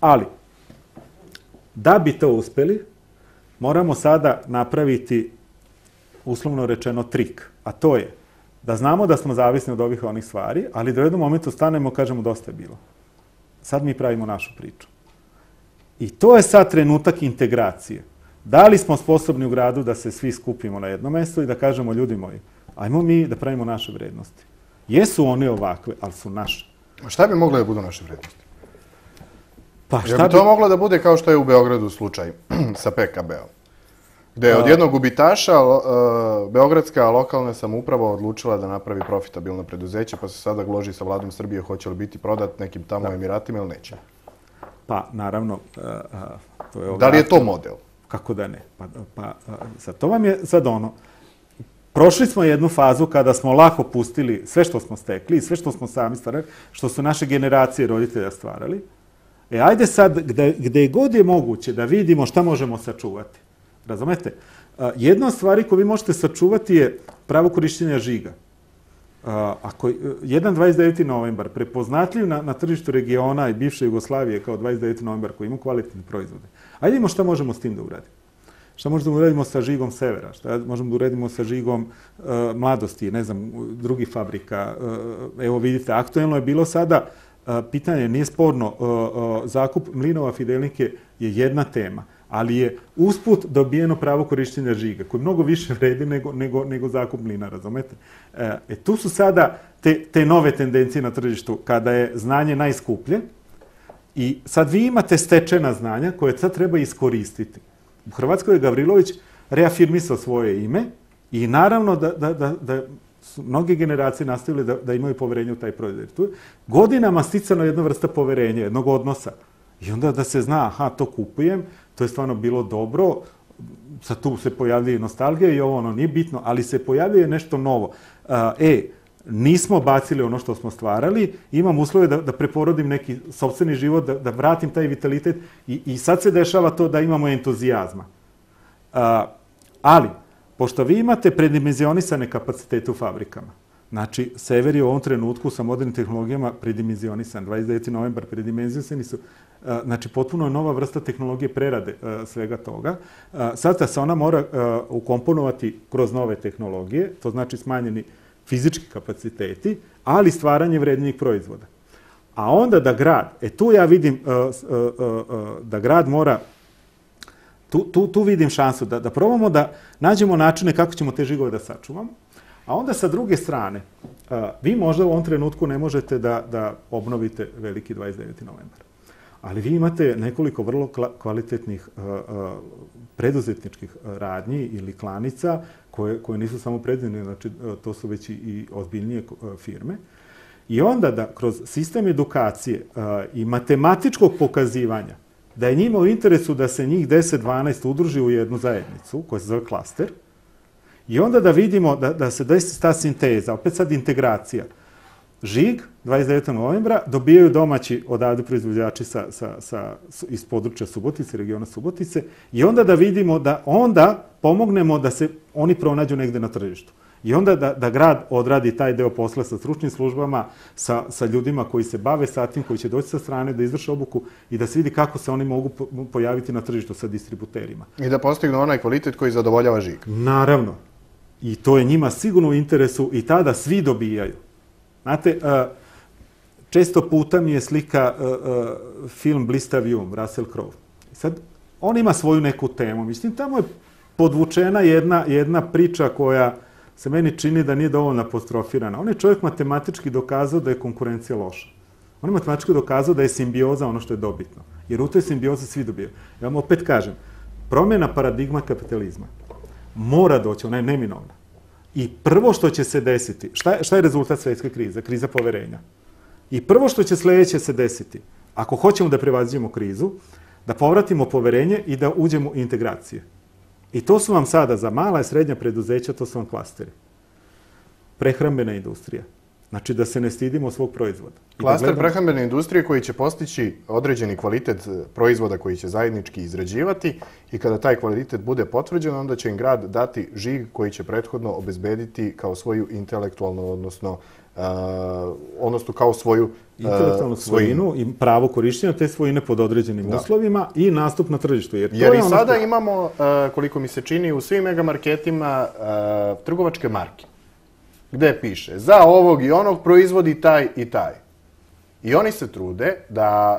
Ali, da bi to uspeli, moramo sada napraviti, uslovno rečeno, trik. A to je da znamo da smo zavisni od ovih onih stvari, ali da u jednom momentu stanemo i kažemo dosta je bilo. Sad mi pravimo našu priču. I to je sad trenutak integracije. Da li smo sposobni u gradu da se svi skupimo na jedno mesto i da kažemo, ljudi moji, ajmo mi da pravimo naše vrednosti. Jesu one ovakve, ali su naše. A šta bi moglo da budu naše vrednosti? Pa šta bi to moglo da bude kao što je u Beogradu slučaj sa P K B-om? Gde je od jednog gubitaša beogradska lokalna samouprava odlučila da napravi profitabilno preduzeće, pa se sada gloži sa vladom Srbije hoće li biti prodat nekim tamo Emiratima ili neće. Pa, naravno, to je... Da li je to model? Kako da ne? Pa, pa sad, to vam je sad ono... Prošli smo jednu fazu kada smo lako pustili sve što smo stekli, sve što smo sami stvarali, što su naše generacije roditelja stvarali. E, ajde sad, gde, gde god je moguće da vidimo šta možemo sačuvati. Razumete? Jedna od stvari koju vi možete sačuvati je pravo korišćenja žiga. Ako jedan dvadeset deveti novembar prepoznatljiv na, na tržištu regiona i bivše Jugoslavije kao dvadeset deveti novembar koji ima kvalitetne proizvode, ajde vidimo šta možemo s tim da uradimo. Šta možemo da uradimo sa žigom Severa, šta možemo da uradimo sa žigom uh, Mladosti, ne znam, drugih fabrika. Uh, evo vidite, aktuelno je bilo sada uh, pitanje, nije sporno, uh, uh, zakup mlinova Fidelnike je jedna tema, ali je usput dobijeno pravo korišćenja žiga, koji mnogo više vredi nego, nego, nego zakup mlina, razumete? E, e, tu su sada te, te nove tendencije na tržištu, kada je znanje najskuplje i sad vi imate stečena znanja koje sad treba iskoristiti. U Hrvatskoj je Gavrilović reafirmisao svoje ime i naravno da, da, da, da su mnoge generacije nastavile da, da imaju poverenje u taj proizvod. Tu je godinama sticano jedna vrsta poverenja, jednog odnosa. I onda da se zna, aha, to kupujem, to je stvarno bilo dobro, sad tu se pojavljuje nostalgija i ovo ono nije bitno, ali se pojavljuje nešto novo. E, nismo bacili ono što smo stvarali, imam uslove da, da preporodim neki sopstveni život, da, da vratim taj vitalitet i, i sad se dešava to da imamo entuzijazma. A, ali, pošto vi imate predimenzionisane kapacitete u fabrikama, znači, Sever je u ovom trenutku sa modernim tehnologijama predimenzionisan, dvadeset deveti novembar predimenzionisani su, a, znači, potpuno je nova vrsta tehnologije prerade a, svega toga. A, sad se ona mora a, ukomponovati kroz nove tehnologije, to znači smanjeni fizički kapaciteti, ali stvaranje vrednijih proizvoda. A onda da grad, e tu ja vidim uh, uh, uh, da grad mora, tu, tu, tu vidim šansu da, da probamo da nađemo načine kako ćemo te žigove da sačuvamo, a onda sa druge strane, uh, vi možda u ovom trenutku ne možete da, da obnovite veliki dvadeset deveti novembar. Ali vi imate nekoliko vrlo kvalitetnih uh, uh, preduzetničkih radnji ili klanica koje, koje nisu samo predivne, znači to su već i ozbiljnije firme. I onda da kroz sistem edukacije uh, i matematičkog pokazivanja da je njima u interesu da se njih deset dvanaest udruži u jednu zajednicu koja se zove klaster i onda da vidimo da, da se desi ta sinteza, opet sad integracija. Žig, dvadeset devetog novembra, dobijaju domaći odavde proizvođači sa, sa, sa, iz područja Subotice, regiona Subotice, i onda da vidimo da onda pomognemo da se oni pronađu negde na tržištu. I onda da, da grad odradi taj deo posla sa stručnim službama, sa, sa ljudima koji se bave sa tim, koji će doći sa strane, da izvrše obuku i da se vidi kako se oni mogu pojaviti na tržištu sa distributerima. I da postignu onaj kvalitet koji zadovoljava Žig. Naravno. I to je njima sigurno u interesu i tada svi dobijaju. Znate, često puta mi je slika film Blistav um, Russell Crowe. Sad, on ima svoju neku temu. Mislim, tamo je podvučena jedna, jedna priča koja se meni čini da nije dovoljno apostrofirana. On je čovjek matematički dokazao da je konkurencija loša. On je matematički dokazao da je simbioza ono što je dobitno. Jer u toj simbiozi svi dobijaju. Ja vam opet kažem, promjena paradigma kapitalizma mora doći, ona je neminovna. I prvo što će se desiti, šta je, šta je rezultat svjetske krize? Kriza poverenja. I prvo što će sljedeće se desiti, ako hoćemo da prevaziđemo krizu, da povratimo poverenje i da uđemo u integracije. I to su vam sada za mala i srednja preduzeća, to su vam klasteri. Prehrambena industrija. Znači da se ne stidimo svog proizvoda. Klaster da gledamo... prehrambene industrije koji će postići određeni kvalitet proizvoda koji će zajednički izrađivati i kada taj kvalitet bude potvrđen, onda će im grad dati žig koji će prethodno obezbediti kao svoju intelektualnu, odnosno, uh, odnosno kao svoju uh, intelektualnu svojinu i pravo korištenja te svojine pod određenim da. uslovima i nastup na tržištu. Jer, Jer to je i ono sada što... imamo, uh, koliko mi se čini, u svim megamarketima uh, trgovačke marke. Gde piše, za ovog i onog proizvodi taj i taj. I oni se trude da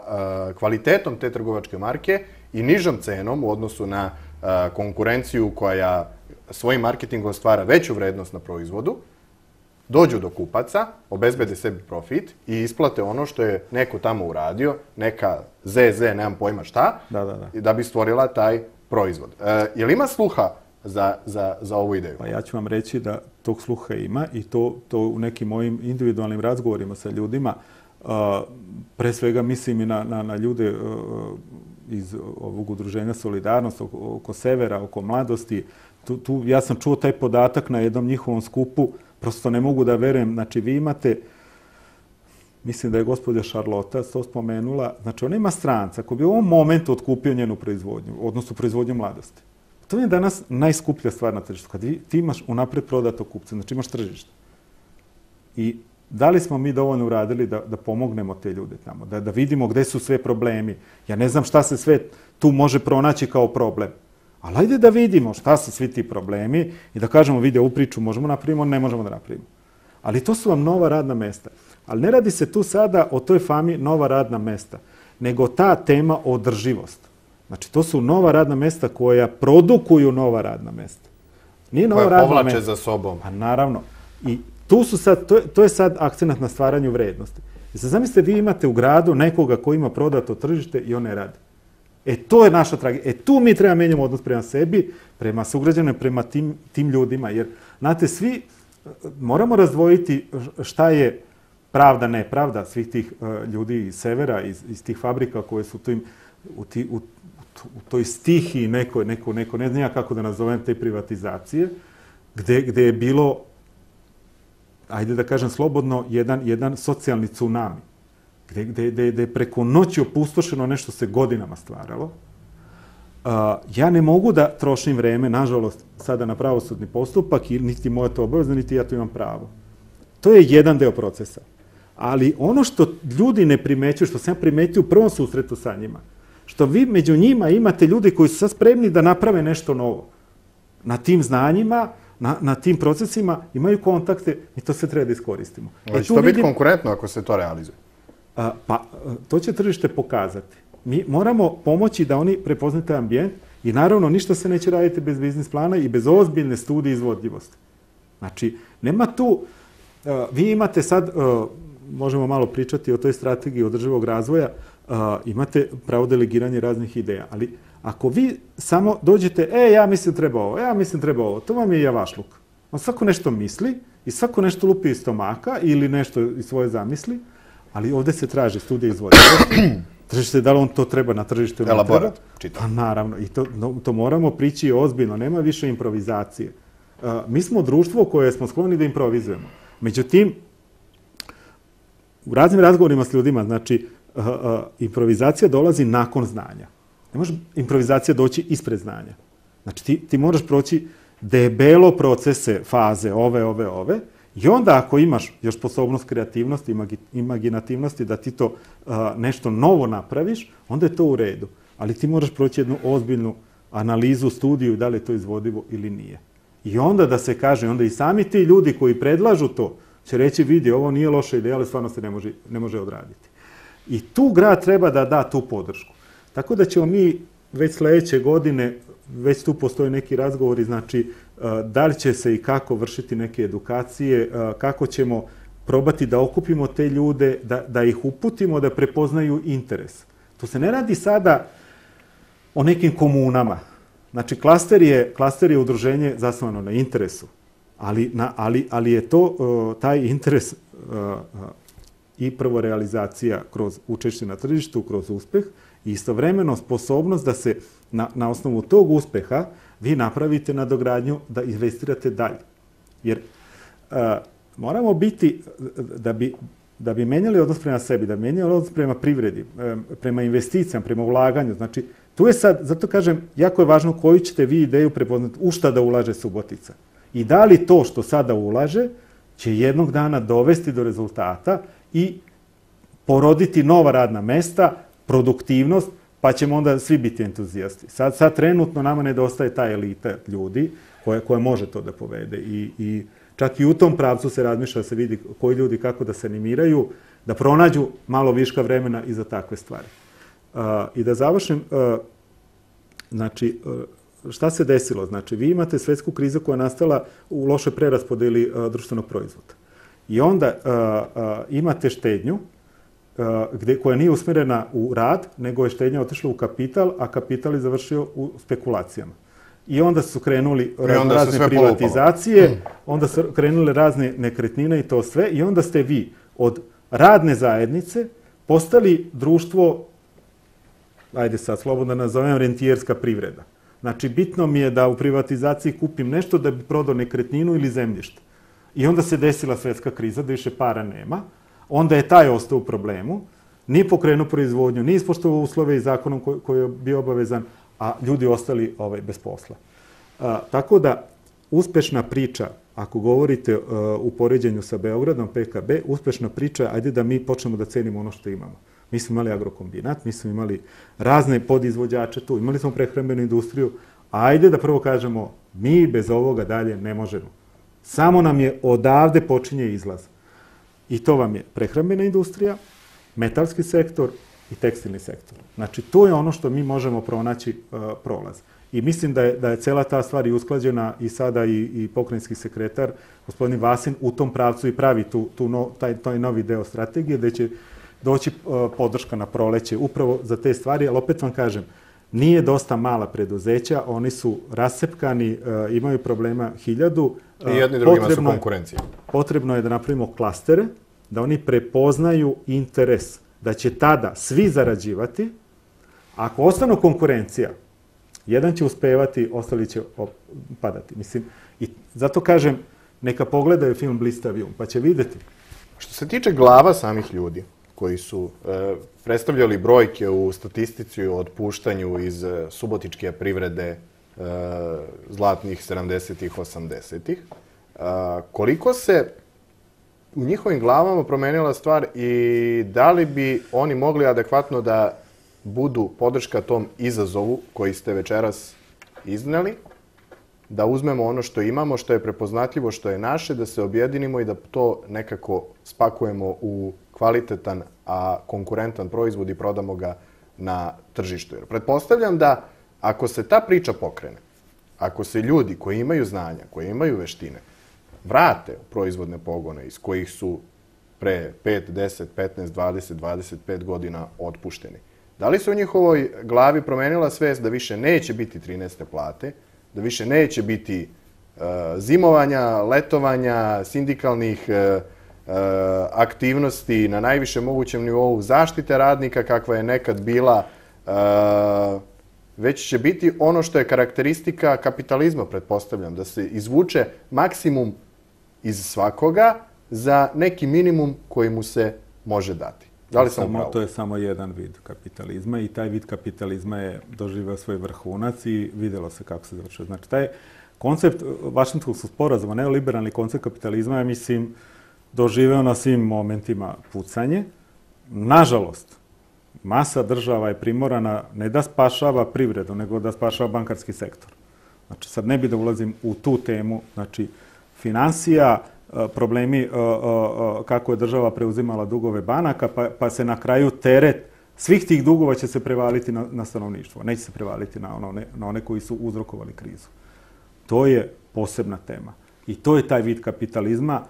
uh, kvalitetom te trgovačke marke i nižom cenom u odnosu na uh, konkurenciju koja svojim marketingom stvara veću vrednost na proizvodu, dođu do kupaca, obezbede sebi profit i isplate ono što je neko tamo uradio, neka zez, nemam pojma šta, da, da, da. da bi stvorila taj proizvod. Uh, je li ima sluha Za, za, za ovu ideju? Pa ja ću vam reći da tog sluha ima i to, to u nekim mojim individualnim razgovorima sa ljudima, uh, pre svega mislim i na, na, na ljude uh, iz ovog udruženja Solidarnost, oko, oko Severa, oko mladosti. Tu, tu, ja sam čuo taj podatak na jednom njihovom skupu, prosto ne mogu da verujem. Znači, vi imate, mislim da je gospođa Šarlota to spomenula, znači ona ima stranca koji bi u ovom momentu otkupio njenu proizvodnju, odnosno proizvodnju mladosti. To je danas najskuplja stvar na tržištu. Kad ti imaš unapred prodato kupce, znači imaš tržište. I da li smo mi dovoljno uradili da, da pomognemo te ljude tamo, da, da vidimo gde su sve problemi. Ja ne znam šta se sve tu može pronaći kao problem. Ali ajde da vidimo šta su svi ti problemi i da kažemo, vidi, ovu priču možemo napravimo, ne možemo da napravimo. Ali to su vam nova radna mesta. Ali ne radi se tu sada o toj fami nova radna mesta, nego ta tema održivost. Znači, to su nova radna mesta koja produkuju nova radna mesta. Nije nova koja radna povlače mesta. za sobom. Pa naravno. I tu su sad, to, je, to je sad akcenat na stvaranju vrednosti. I sad zamislite, vi imate u gradu nekoga koji ima prodato tržište i on ne radi. E, to je naša tragedija. E, tu mi treba menjamo odnos prema sebi, prema sugrađanima, prema tim, tim ljudima. Jer, znate, svi moramo razdvojiti šta je pravda, nepravda svih tih uh, ljudi iz Severa, iz, iz tih fabrika koje su tim, u, ti, u u toj stihiji nekoj, neko, neko, ne znam ja kako da nazovem te privatizacije, gde, gde je bilo, ajde da kažem slobodno, jedan, jedan socijalni tsunami, gde, gde, gde, gde je preko noći opustošeno nešto se godinama stvaralo. Uh, ja ne mogu da trošim vreme, nažalost, sada na pravosudni postupak, i niti moja to obavezno, niti ja to imam pravo. To je jedan deo procesa. Ali ono što ljudi ne primećuju, što sam primetio u prvom susretu sa njima, što vi među njima imate ljudi koji su sad spremni da naprave nešto novo. Na tim znanjima, na, na tim procesima imaju kontakte i to sve treba da iskoristimo. Ali će to biti konkurentno ako se to realizuje? A, pa, to će tržište pokazati. Mi moramo pomoći da oni prepoznaju taj ambijent i naravno ništa se neće raditi bez biznis plana i bez ozbiljne studije izvodljivosti. Znači, nema tu, uh, vi imate sad, uh, možemo malo pričati o toj strategiji održivog razvoja, uh, imate pravo delegiranje raznih ideja, ali ako vi samo dođete, e, ja mislim treba ovo, ja mislim treba ovo, to vam je javašluk. On svako nešto misli i svako nešto lupi iz stomaka ili nešto iz svoje zamisli, ali ovde se traži studija izvodljivosti. Tržište, da li on to treba na tržištu ili ne treba? Elaborat, čitam. Pa naravno, i to, no, to moramo prići ozbiljno, nema više improvizacije. Uh, mi smo društvo koje smo skloni da improvizujemo. Međutim, u raznim razgovorima s ljudima, znači, uh, uh, improvizacija dolazi nakon znanja. Ne može improvizacija doći ispred znanja. Znači, ti, ti moraš proći debelo procese, faze, ove, ove, ove, i onda ako imaš još sposobnost kreativnosti, imaginativnosti da ti to uh, nešto novo napraviš, onda je to u redu. Ali ti moraš proći jednu ozbiljnu analizu, studiju da li je to izvodivo ili nije. I onda da se kaže, onda i sami ti ljudi koji predlažu to će reći, vidi, ovo nije loša ideja, ali stvarno se ne može, ne može odraditi. I tu grad treba da da tu podršku. Tako da ćemo mi već sledeće godine, već tu postoje neki razgovori, znači da li će se i kako vršiti neke edukacije, kako ćemo probati da okupimo te ljude, da, da ih uputimo, da prepoznaju interes. To se ne radi sada o nekim komunama. Znači, klaster je, klaster je udruženje zasnovano na interesu, ali, na, ali, ali je to taj interes i prvo realizacija kroz učešće na tržištu, kroz uspeh i istovremeno sposobnost da se na, na osnovu tog uspeha vi napravite nadogradnju da investirate dalje. Jer uh, moramo biti, da bi, da bi menjali odnos prema sebi, da bi menjali odnos prema privredi, prema investicijama, prema ulaganju. Znači, tu je sad, zato kažem, jako je važno koju ćete vi ideju prepoznati, u šta da ulaže Subotica. I da li to što sada ulaže će jednog dana dovesti do rezultata i poroditi nova radna mesta, produktivnost, pa ćemo onda svi biti entuzijasti. Sad, sad trenutno nama nedostaje ta elita ljudi koja, koja može to da povede. I, i čak i u tom pravcu se razmišlja da se vidi koji ljudi kako da se animiraju, da pronađu malo viška vremena i za takve stvari. Uh, I da završim, uh, znači, uh, šta se desilo? Znači, vi imate svetsku krizu koja je nastala u lošoj preraspodeli uh, društvenog proizvoda. I onda uh, uh, imate štednju, Gde, koja nije usmjerena u rad, nego je štednja otišla u kapital, a kapital je završio u spekulacijama. I onda su krenuli onda razne su privatizacije, mm. onda su krenule razne nekretnine i to sve, i onda ste vi od radne zajednice postali društvo, ajde sad slobodno nazovem, rentijerska privreda. Znači, bitno mi je da u privatizaciji kupim nešto da bi prodao nekretninu ili zemljište. I onda se desila svetska kriza, da više para nema. Onda je taj ostao u problemu, nije pokrenuo proizvodnju, nije ispoštovao uslove i zakonom koji, koji je bio obavezan, a ljudi ostali ovaj, bez posla. A, tako da, uspešna priča, ako govorite uh, u poređenju sa Beogradom, P K B, uspešna priča, ajde da mi počnemo da cenimo ono što imamo. Mi smo imali agrokombinat, mi smo imali razne podizvođače tu, imali smo prehrambenu industriju, ajde da prvo kažemo, mi bez ovoga dalje ne možemo. Samo nam je odavde počinje izlaz. I to vam je prehrambena industrija, metalski sektor i tekstilni sektor. Znači, to je ono što mi možemo pronaći uh, prolaz. I mislim da je, da je cela ta stvar i usklađena i sada i, i pokrajinski sekretar, gospodin Vasin, u tom pravcu i pravi tu, tu no, taj, taj novi deo strategije, gde će doći uh, podrška na proleće upravo za te stvari, ali opet vam kažem, nije dosta mala preduzeća, oni su rasepkani, uh, imaju problema hiljadu. I jedni drugima su konkurencija. Potrebno je da napravimo klastere, da oni prepoznaju interes, da će tada svi zarađivati Ako ostanu konkurencija, jedan će uspevati, ostali će padati. Mislim, i zato kažem, neka pogledaju film Blistav um, pa će vidjeti. Što se tiče glava samih ljudi koji su e, predstavljali brojke u statistici o otpuštanju iz e, subotičke privrede e, zlatnih sedamdesetih, osamdesetih, e, koliko se u njihovim glavama promenila stvar i da li bi oni mogli adekvatno da budu podrška tom izazovu koji ste večeras izneli, da uzmemo ono što imamo, što je prepoznatljivo, što je naše, da se objedinimo i da to nekako spakujemo u kvalitetan, a konkurentan proizvod i prodamo ga na tržištu. Jer pretpostavljam da ako se ta priča pokrene, ako se ljudi koji imaju znanja, koji imaju veštine, vrate u proizvodne pogone iz kojih su pre pet, deset, petnaest, dvadeset, dvadeset pet godina otpušteni, da li se u njihovoj glavi promenila svest da više neće biti trinaeste plate, da više neće biti uh, zimovanja, letovanja, sindikalnih uh, uh, aktivnosti na najvišem mogućem nivou, zaštite radnika kakva je nekad bila, uh, već će biti ono što je karakteristika kapitalizma, pretpostavljam, da se izvuče maksimum iz svakoga za neki minimum koji mu se može dati. Da li sam samo, upravo? To je samo jedan vid kapitalizma i taj vid kapitalizma je doživio svoj vrhunac i vidjelo se kako se završio. Znači, taj koncept Vašingtonskog sporazuma, neoliberalni koncept kapitalizma je, mislim, doživeo na svim momentima pucanje. Nažalost, masa država je primorana ne da spašava privredu, nego da spašava bankarski sektor. Znači, sad ne bi da ulazim u tu temu, znači, finansija, problemi kako je država preuzimala dugove banaka, pa, pa se na kraju teret svih tih dugova će se prevaliti na, na stanovništvo. Neće se prevaliti na one, na one koji su uzrokovali krizu. To je posebna tema. I to je taj vid kapitalizma.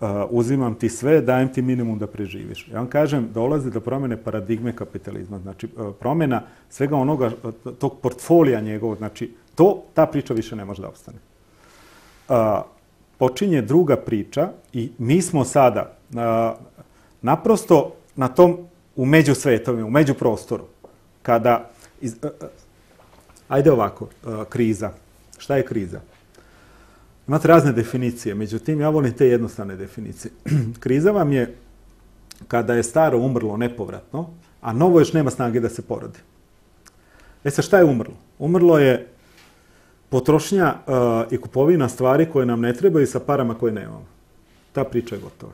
Uh, uzimam ti sve, dajem ti minimum da preživiš. Ja vam kažem, dolazi do promjene paradigme kapitalizma. Znači, uh, promjena svega onoga, tog portfolija njegovog, znači, to, ta priča više ne može da ostane. Uh, počinje druga priča i mi smo sada uh, naprosto na tom u međusvetovima, u međuprostoru. Kada, iz, uh, uh, ajde ovako, uh, kriza. Šta je kriza? Imate razne definicije, međutim, ja volim te jednostavne definicije. Kriza vam je kada je staro umrlo nepovratno, a novo još nema snage da se porodi. E sad, šta je umrlo? Umrlo je potrošnja uh, i kupovina stvari koje nam ne trebaju sa parama koje nemamo. Ta priča je gotova.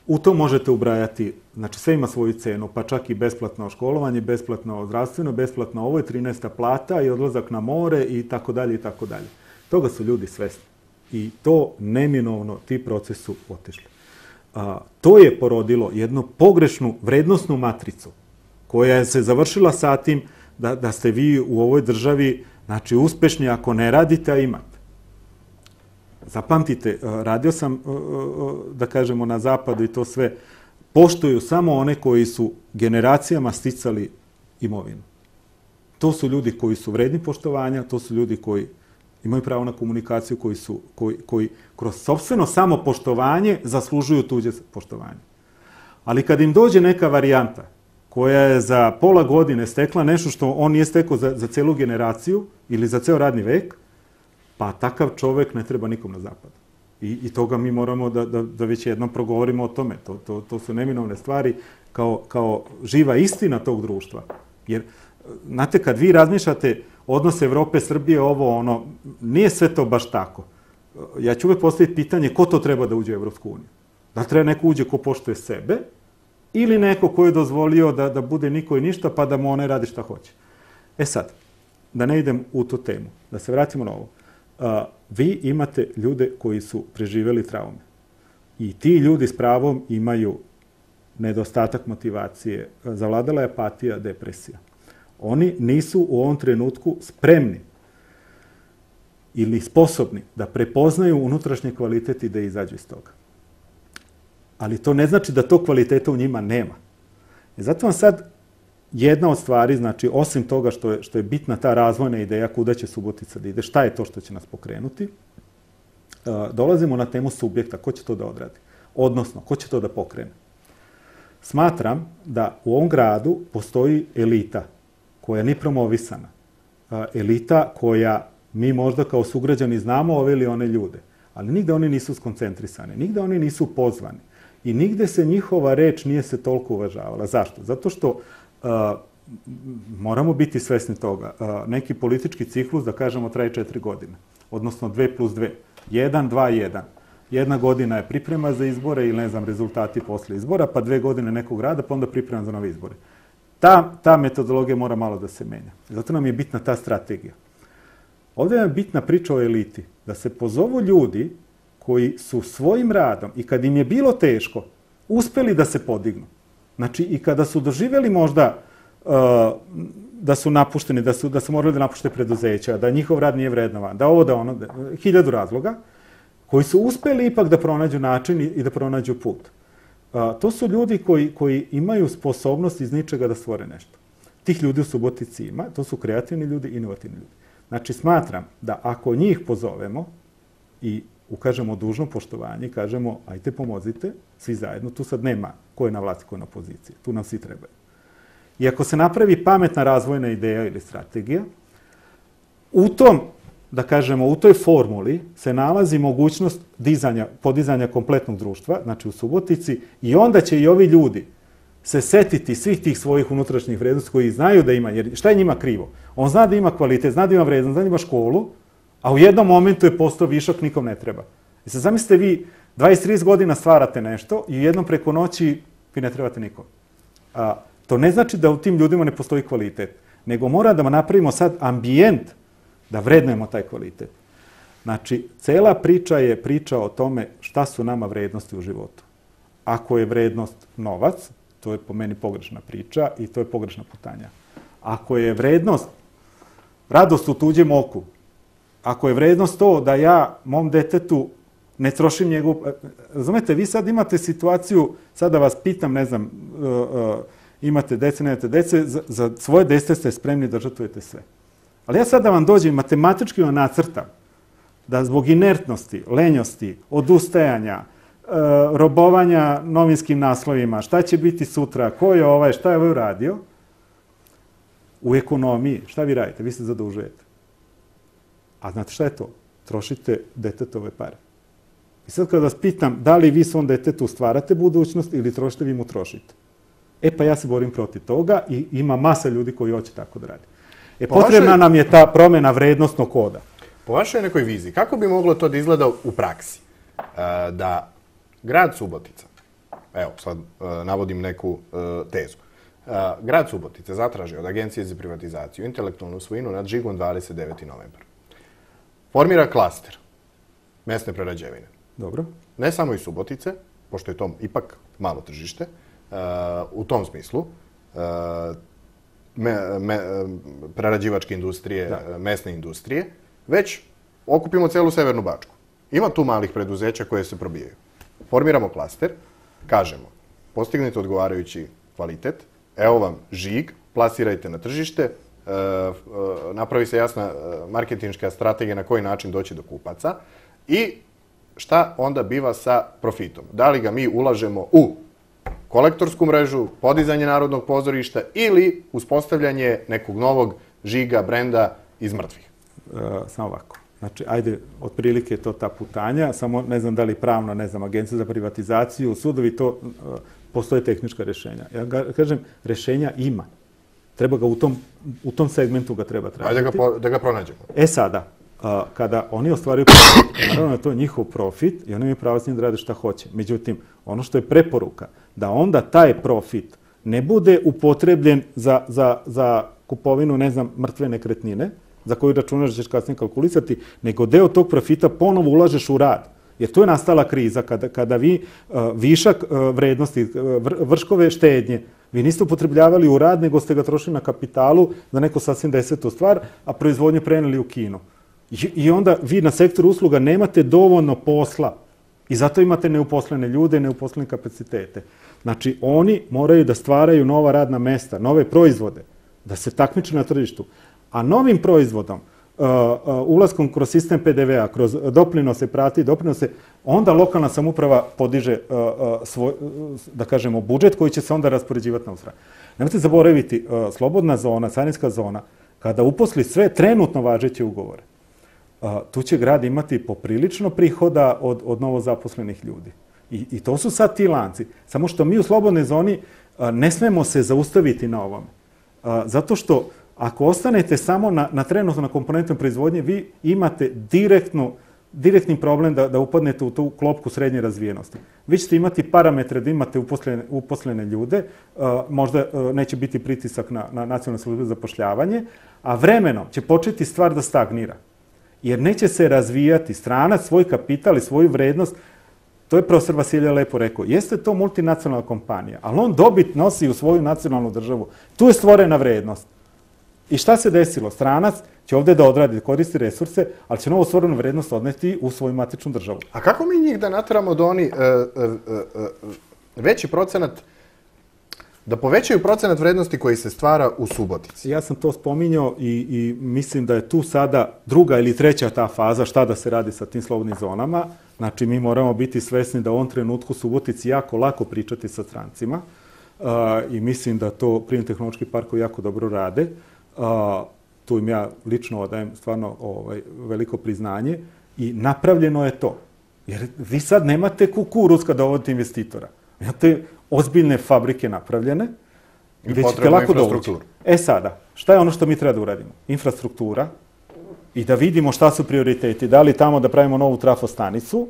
U to možete ubrajati, znači sve ima svoju cenu, pa čak i besplatno školovanje, besplatno zdravstveno, besplatno ovo je trinaesta plata i odlazak na more i tako dalje i tako dalje. Toga su ljudi svesni. I to neminovno, ti procesi su otišli. A, to je porodilo jednu pogrešnu vrednostnu matricu koja se završila sa tim da, da ste vi u ovoj državi znači, uspešni ako ne radite, a imate. Zapamtite, radio sam, da kažemo, na zapadu i to sve, poštuju samo one koji su generacijama sticali imovinu. To su ljudi koji su vredni poštovanja, to su ljudi koji imaju pravo na komunikaciju, koji, su, koji, koji kroz sopstveno samopoštovanje zaslužuju tuđe poštovanje. Ali kad im dođe neka varijanta koja je za pola godine stekla nešto što on nije stekao za, za celu generaciju ili za ceo radni vek, pa takav čovek ne treba nikom na zapadu. I, i toga mi moramo da, da, da već jednom progovorimo o tome. To, to, to su neminovne stvari kao, kao živa istina tog društva. Jer, znate, kad vi razmišljate odnos Evrope, Srbije, ovo, ono, nije sve to baš tako. Ja ću uvek postaviti pitanje ko to treba da uđe u Evropsku uniju. Da li treba neko uđe ko poštuje sebe ili neko ko je dozvolio da, da bude niko i ništa pa da mu one radi šta hoće. E sad, da ne idem u tu temu, da se vratimo na ovo. Uh, vi imate ljude koji su preživjeli traume. I ti ljudi s pravom imaju nedostatak motivacije, zavladala je apatija, depresija. Oni nisu u ovom trenutku spremni ili sposobni da prepoznaju unutrašnje kvalitet i da izađu iz toga. Ali to ne znači da to kvaliteta u njima nema. I zato vam sad jedna od stvari, znači, osim toga što je, što je bitna ta razvojna ideja kuda će Subotica da ide, šta je to što će nas pokrenuti, dolazimo na temu subjekta, ko će to da odradi? Odnosno, ko će to da pokrene? Smatram da u ovom gradu postoji elita koja nije promovisana, elita koja mi možda kao sugrađani znamo ove ili one ljude, ali nigde oni nisu skoncentrisani, nigde oni nisu pozvani i nigde se njihova reč nije se toliko uvažavala. Zašto? Zato što uh, moramo biti svesni toga. Uh, neki politički ciklus, da kažemo, traje četiri godine, odnosno dve plus dve. Jedan, dva, jedan. Jedna godina je priprema za izbore ili, ne znam, rezultati posle izbora, pa dve godine nekog rada, pa onda priprema za nove izbore. Ta, ta metodologija mora malo da se menja. Zato nam je bitna ta strategija. Ovdje je bitna priča o eliti. Da se pozovu ljudi koji su svojim radom i kad im je bilo teško, uspeli da se podignu. Znači, i kada su doživjeli možda uh, da su napušteni, da su, da su morali da napušte preduzeća, da njihov rad nije vrednovan, da ovo, da ono, da, hiljadu razloga, koji su uspeli ipak da pronađu način i, i da pronađu put. Uh, to su ljudi koji, koji imaju sposobnost iz ničega da stvore nešto. Tih ljudi u Subotici ima, to su kreativni ljudi, inovativni ljudi. Znači, smatram da ako njih pozovemo i ukažemo dužno poštovanje, kažemo, ajte pomozite, svi zajedno, tu sad nema ko je na vlasti, ko je na poziciji, tu nam svi trebaju. I ako se napravi pametna razvojna ideja ili strategija, u tom, da kažemo, u toj formuli se nalazi mogućnost dizanja, podizanja kompletnog društva, znači u Subotici, i onda će i ovi ljudi se setiti svih tih svojih unutrašnjih vrednosti koji znaju da ima, jer šta je njima krivo? On zna da ima kvalitet, zna da ima vrednost, zna da ima školu, a u jednom momentu je postao višak, nikom ne treba. I sad zamislite vi, dvadeset do trideset godina stvarate nešto i jednom preko noći vi ne trebate nikom. A, to ne znači da u tim ljudima ne postoji kvalitet, nego mora da napravimo sad ambijent da vrednujemo taj kvalitet. Znači, cela priča je priča o tome šta su nama vrednosti u životu. Ako je vrednost novac, to je po meni pogrešna priča i to je pogrešna putanja. Ako je vrednost radost u tuđem oku, ako je vrednost to da ja mom detetu ne trošim njegov... Razumete, vi sad imate situaciju, sad da vas pitam, ne znam, uh, uh, imate dece, nemate dece, za, za svoje dece ste spremni da žrtvujete sve. Ali ja sad da vam dođem i matematički vam nacrtam da zbog inertnosti, lenjosti, odustajanja, uh, robovanja novinskim naslovima, šta će biti sutra, ko je ovaj, šta je ovaj uradio, u ekonomiji, šta vi radite? Vi se zadužujete. A znate šta je to? Trošite detetove pare. I sad kad vas pitam da li vi svom detetu stvarate budućnost ili trošite, vi mu trošite. E pa ja se borim protiv toga i ima masa ljudi koji hoće tako da radi. E po potrebna vašoj... nam je ta promjena vrednostnog koda. Po vašoj nekoj viziji, kako bi moglo to da izgleda u praksi? E, da grad Subotica, evo sad e, navodim neku e, tezu, e, grad Subotica zatraži od Agencije za privatizaciju intelektualnu svojinu nad žigom dvadeset devetog novembra. Formira klaster mesne prerađevine. Dobro. Ne samo iz Subotice, pošto je to ipak malo tržište, uh, u tom smislu, uh, me, me, prerađivačke industrije, da. mesne industrije, već okupimo celu Severnu Bačku. Ima tu malih preduzeća koje se probijaju. Formiramo klaster, kažemo, postignite odgovarajući kvalitet, evo vam žig, plasirajte na tržište, Uh, uh, napravi se jasna uh, marketinška strategija na koji način doći do kupaca i šta onda biva sa profitom. Da li ga mi ulažemo u kolektorsku mrežu, podizanje Narodnog pozorišta ili uspostavljanje nekog novog žiga, brenda iz mrtvih? Uh, samo ovako. Znači, ajde, otprilike je to ta putanja, samo ne znam da li pravno, ne znam, Agencija za privatizaciju, sudovi, to uh, postoje tehnička rješenja. Ja ga, kažem, rješenja ima. Treba ga u tom, u tom segmentu ga treba tražiti. Ajde da ga, da ga pronađemo. E sada, a, kada oni ostvaruju profit, naravno je to njihov profit i oni imaju pravo s njim da rade šta hoće. Međutim, ono što je preporuka, da onda taj profit ne bude upotrebljen za, za, za kupovinu, ne znam, mrtve nekretnine, za koju računaš da ćeš kasnije kalkulisati, nego deo tog profita ponovo ulažeš u rad. Jer to je nastala kriza kada, kada vi uh, višak uh, vrednosti, uh, vrškove štednje, vi niste upotrebljavali u rad, nego ste ga trošili na kapitalu za neko sasvim desetu stvar, a proizvodnju preneli u Kinu. I, I onda vi na sektoru usluga nemate dovoljno posla i zato imate neuposlene ljude, neuposlene kapacitete. Znači, oni moraju da stvaraju nova radna mesta, nove proizvode, da se takmiče na tržištu. A novim proizvodom ulaskom kroz sistem P D V-a, kroz doprinose prati, doprinose, onda lokalna samouprava podiže svoj, da kažemo, budžet koji će se onda raspoređivati na usra. Nemojte zaboraviti, slobodna zona, carinska zona, kada uposli sve trenutno važeće ugovore, tu će grad imati poprilično prihoda od, od novozaposlenih ljudi. I, I to su sad ti lanci. Samo što mi u slobodnoj zoni ne smemo se zaustaviti na ovome. Zato što ako ostanete samo na, na trenutno na komponentnom proizvodnje, vi imate direktnu, direktni problem da, da upadnete u tu klopku srednje razvijenosti. Vi ćete imati parametre da imate uposlene, uposlene ljude, možda neće biti pritisak na, na nacionalnu službu za zapošljavanje, a vremenom će početi stvar da stagnira. Jer neće se razvijati stranac, svoj kapital i svoju vrednost. To je profesor Vasilje lepo rekao. Jeste to multinacionalna kompanija, ali on dobit nosi u svoju nacionalnu državu. Tu je stvorena vrednost. I šta se desilo? Stranac će ovdje da odradi, koristi resurse, ali će novo stvorenu vrednost odneti u svoju matičnu državu. A kako mi njih da nateramo da oni veći procenat, da povećaju procenat vrednosti koji se stvara u Subotici? Ja sam to spominjao i, i mislim da je tu sada druga ili treća ta faza šta da se radi sa tim slobodnim zonama. Znači, mi moramo biti svesni da u ovom trenutku Subotici jako lako pričati sa strancima uh, i mislim da to prirodno-tehnološki parkovi jako dobro rade. Uh, tu im ja lično odajem stvarno ovaj, veliko priznanje i napravljeno je to. Jer vi sad nemate kukuruz kada dovodite investitora. Imate ozbiljne fabrike napravljene gdje ćete lako dovući. E sada, šta je ono što mi treba da uradimo? Infrastruktura i da vidimo šta su prioriteti. Da li tamo da pravimo novu trafostanicu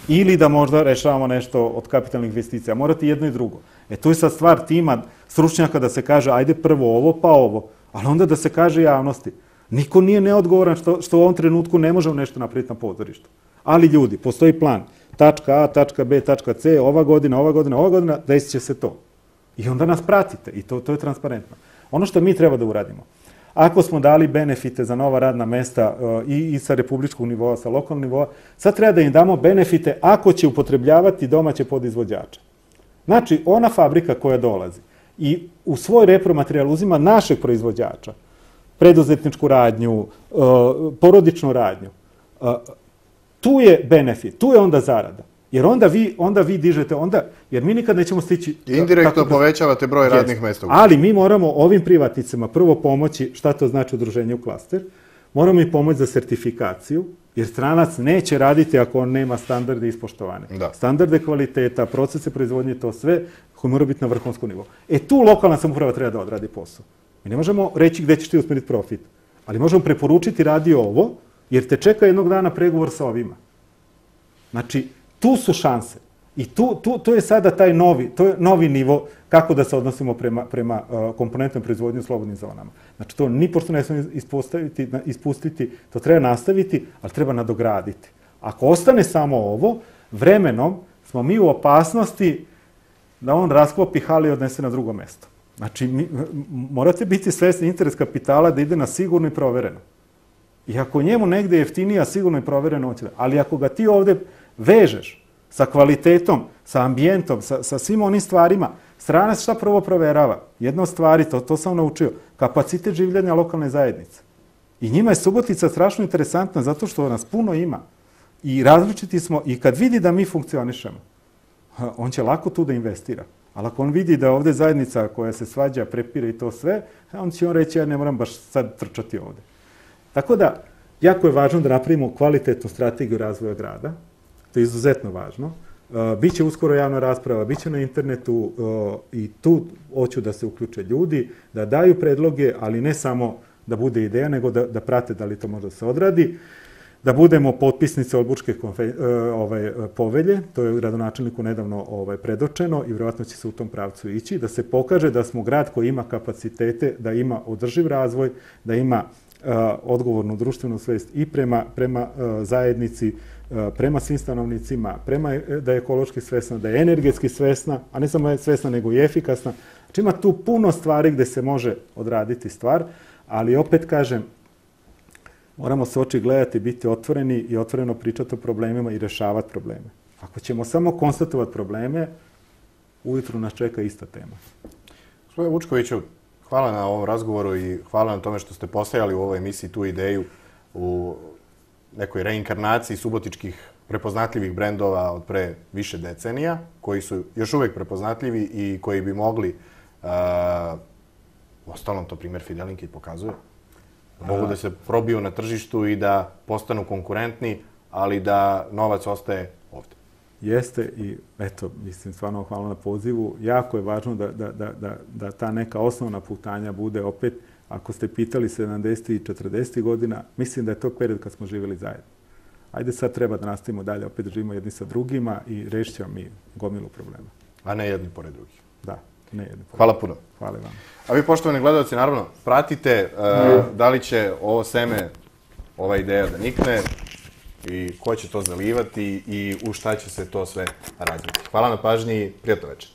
ili da možda rešavamo nešto od kapitalnih investicija. Morate jedno i drugo. E tu je sad stvar tima stručnjaka da se kaže ajde prvo ovo pa ovo. Ali onda da se kaže javnosti. Niko nije neodgovoran što, što u ovom trenutku ne možemo nešto napraviti na pozorištu. Ali ljudi, postoji plan. Tačka A, tačka B, tačka C, ova godina, ova godina, ova godina, desit će se to. I onda nas pratite i to, to je transparentno. Ono što mi treba da uradimo, ako smo dali benefite za nova radna mesta uh, i, i sa republičkog nivoa, sa lokalnog nivoa, sad treba da im damo benefite ako će upotrebljavati domaće podizvođače. Znači, ona fabrika koja dolazi i u svoj repromaterijal uzima našeg proizvođača, preduzetničku radnju, uh, porodičnu radnju, uh, tu je benefit, tu je onda zarada. Jer onda vi, onda vi dižete, onda, jer mi nikad nećemo stići... Indirektno da, povećavate broj radnih mesta. Ali mi moramo ovim privatnicima prvo pomoći, šta to znači udruženje u klaster, moramo im pomoći za sertifikaciju, jer stranac neće raditi ako on nema standarde ispoštovane. Da. Standarde kvaliteta, procese proizvodnje, to sve koji mora biti na vrhunskom nivou. E tu lokalna samouprava treba da odradi posao. Mi ne možemo reći gde ćeš ti usmeriti profit, ali možemo preporučiti radi ovo, jer te čeka jednog dana pregovor sa ovima. Znači, tu su šanse. I tu, tu, to je sada taj novi, to je novi nivo kako da se odnosimo prema, prema uh, komponentnom proizvodnju u slobodnim zonama. Znači, to nipošto ne smije ispostaviti, ispustiti, to treba nastaviti, ali treba nadograditi. Ako ostane samo ovo, vremenom smo mi u opasnosti da on rasklopi hali i odnese na drugo mesto. Znači, mi, morate biti svesni interes kapitala da ide na sigurno i provereno. I ako njemu negde je jeftinija, sigurno i provereno, on će da. Ali ako ga ti ovde vežeš sa kvalitetom, sa ambijentom, sa, sa svim onim stvarima, stranac šta prvo proverava? Jedna od stvari, to, to sam naučio, kapacitet življenja lokalne zajednice. I njima je Subotica strašno interesantna zato što nas puno ima. I različiti smo, i kad vidi da mi funkcionišemo, on će lako tu da investira. Ali ako on vidi da ovde zajednica koja se svađa, prepire i to sve, on će on reći, ja ne moram baš sad trčati ovde. Tako da, jako je važno da napravimo kvalitetnu strategiju razvoja grada. To je izuzetno važno. Uh, biće uskoro javna rasprava, biće na internetu uh, i tu hoću da se uključe ljudi, da daju predloge, ali ne samo da bude ideja, nego da, da prate da li to može da se odradi. Da budemo potpisnice Olbučke konfe, uh, ovaj, povelje, to je gradonačelniku nedavno ovaj, predočeno i vjerojatno će se u tom pravcu ići, da se pokaže da smo grad koji ima kapacitete, da ima održiv razvoj, da ima uh, odgovornu društvenu svest i prema, prema uh, zajednici, prema svim stanovnicima, prema da je ekološki svesna, da je energetski svesna, a ne samo je svesna, nego i efikasna. Znači ima tu puno stvari gde se može odraditi stvar, ali opet kažem, moramo se oči gledati, biti otvoreni i otvoreno pričati o problemima i rešavati probleme. Ako ćemo samo konstatovati probleme, ujutru nas čeka ista tema. Gospodine Vučkoviću, hvala na ovom razgovoru i hvala na tome što ste postajali u ovoj emisiji tu ideju u nekoj reinkarnaciji subotičkih prepoznatljivih brendova od pre više decenija, koji su još uvek prepoznatljivi i koji bi mogli, uh, ostalom to primjer Fidelinke pokazuje, mogu da se probiju na tržištu i da postanu konkurentni, ali da novac ostaje ovde. Jeste i eto, mislim, stvarno hvala na pozivu. Jako je važno da, da, da, da, da ta neka osnovna putanja bude opet, ako ste pitali sedamdesetih i četrdesetih godina, mislim da je to period kad smo živjeli zajedno. Ajde sad treba da nastavimo dalje, opet živimo jedni sa drugima i rešit ćemo mi gomilu problema. A ne jedni pored drugih. Da, ne jedni pored. Hvala puno. Hvala vam. A vi, poštovani gledalci, naravno, pratite uh, da li će ovo seme, ova ideja da nikne i ko će to zalivati i u šta će se to sve razviti. Hvala na pažnji i prijatno večer.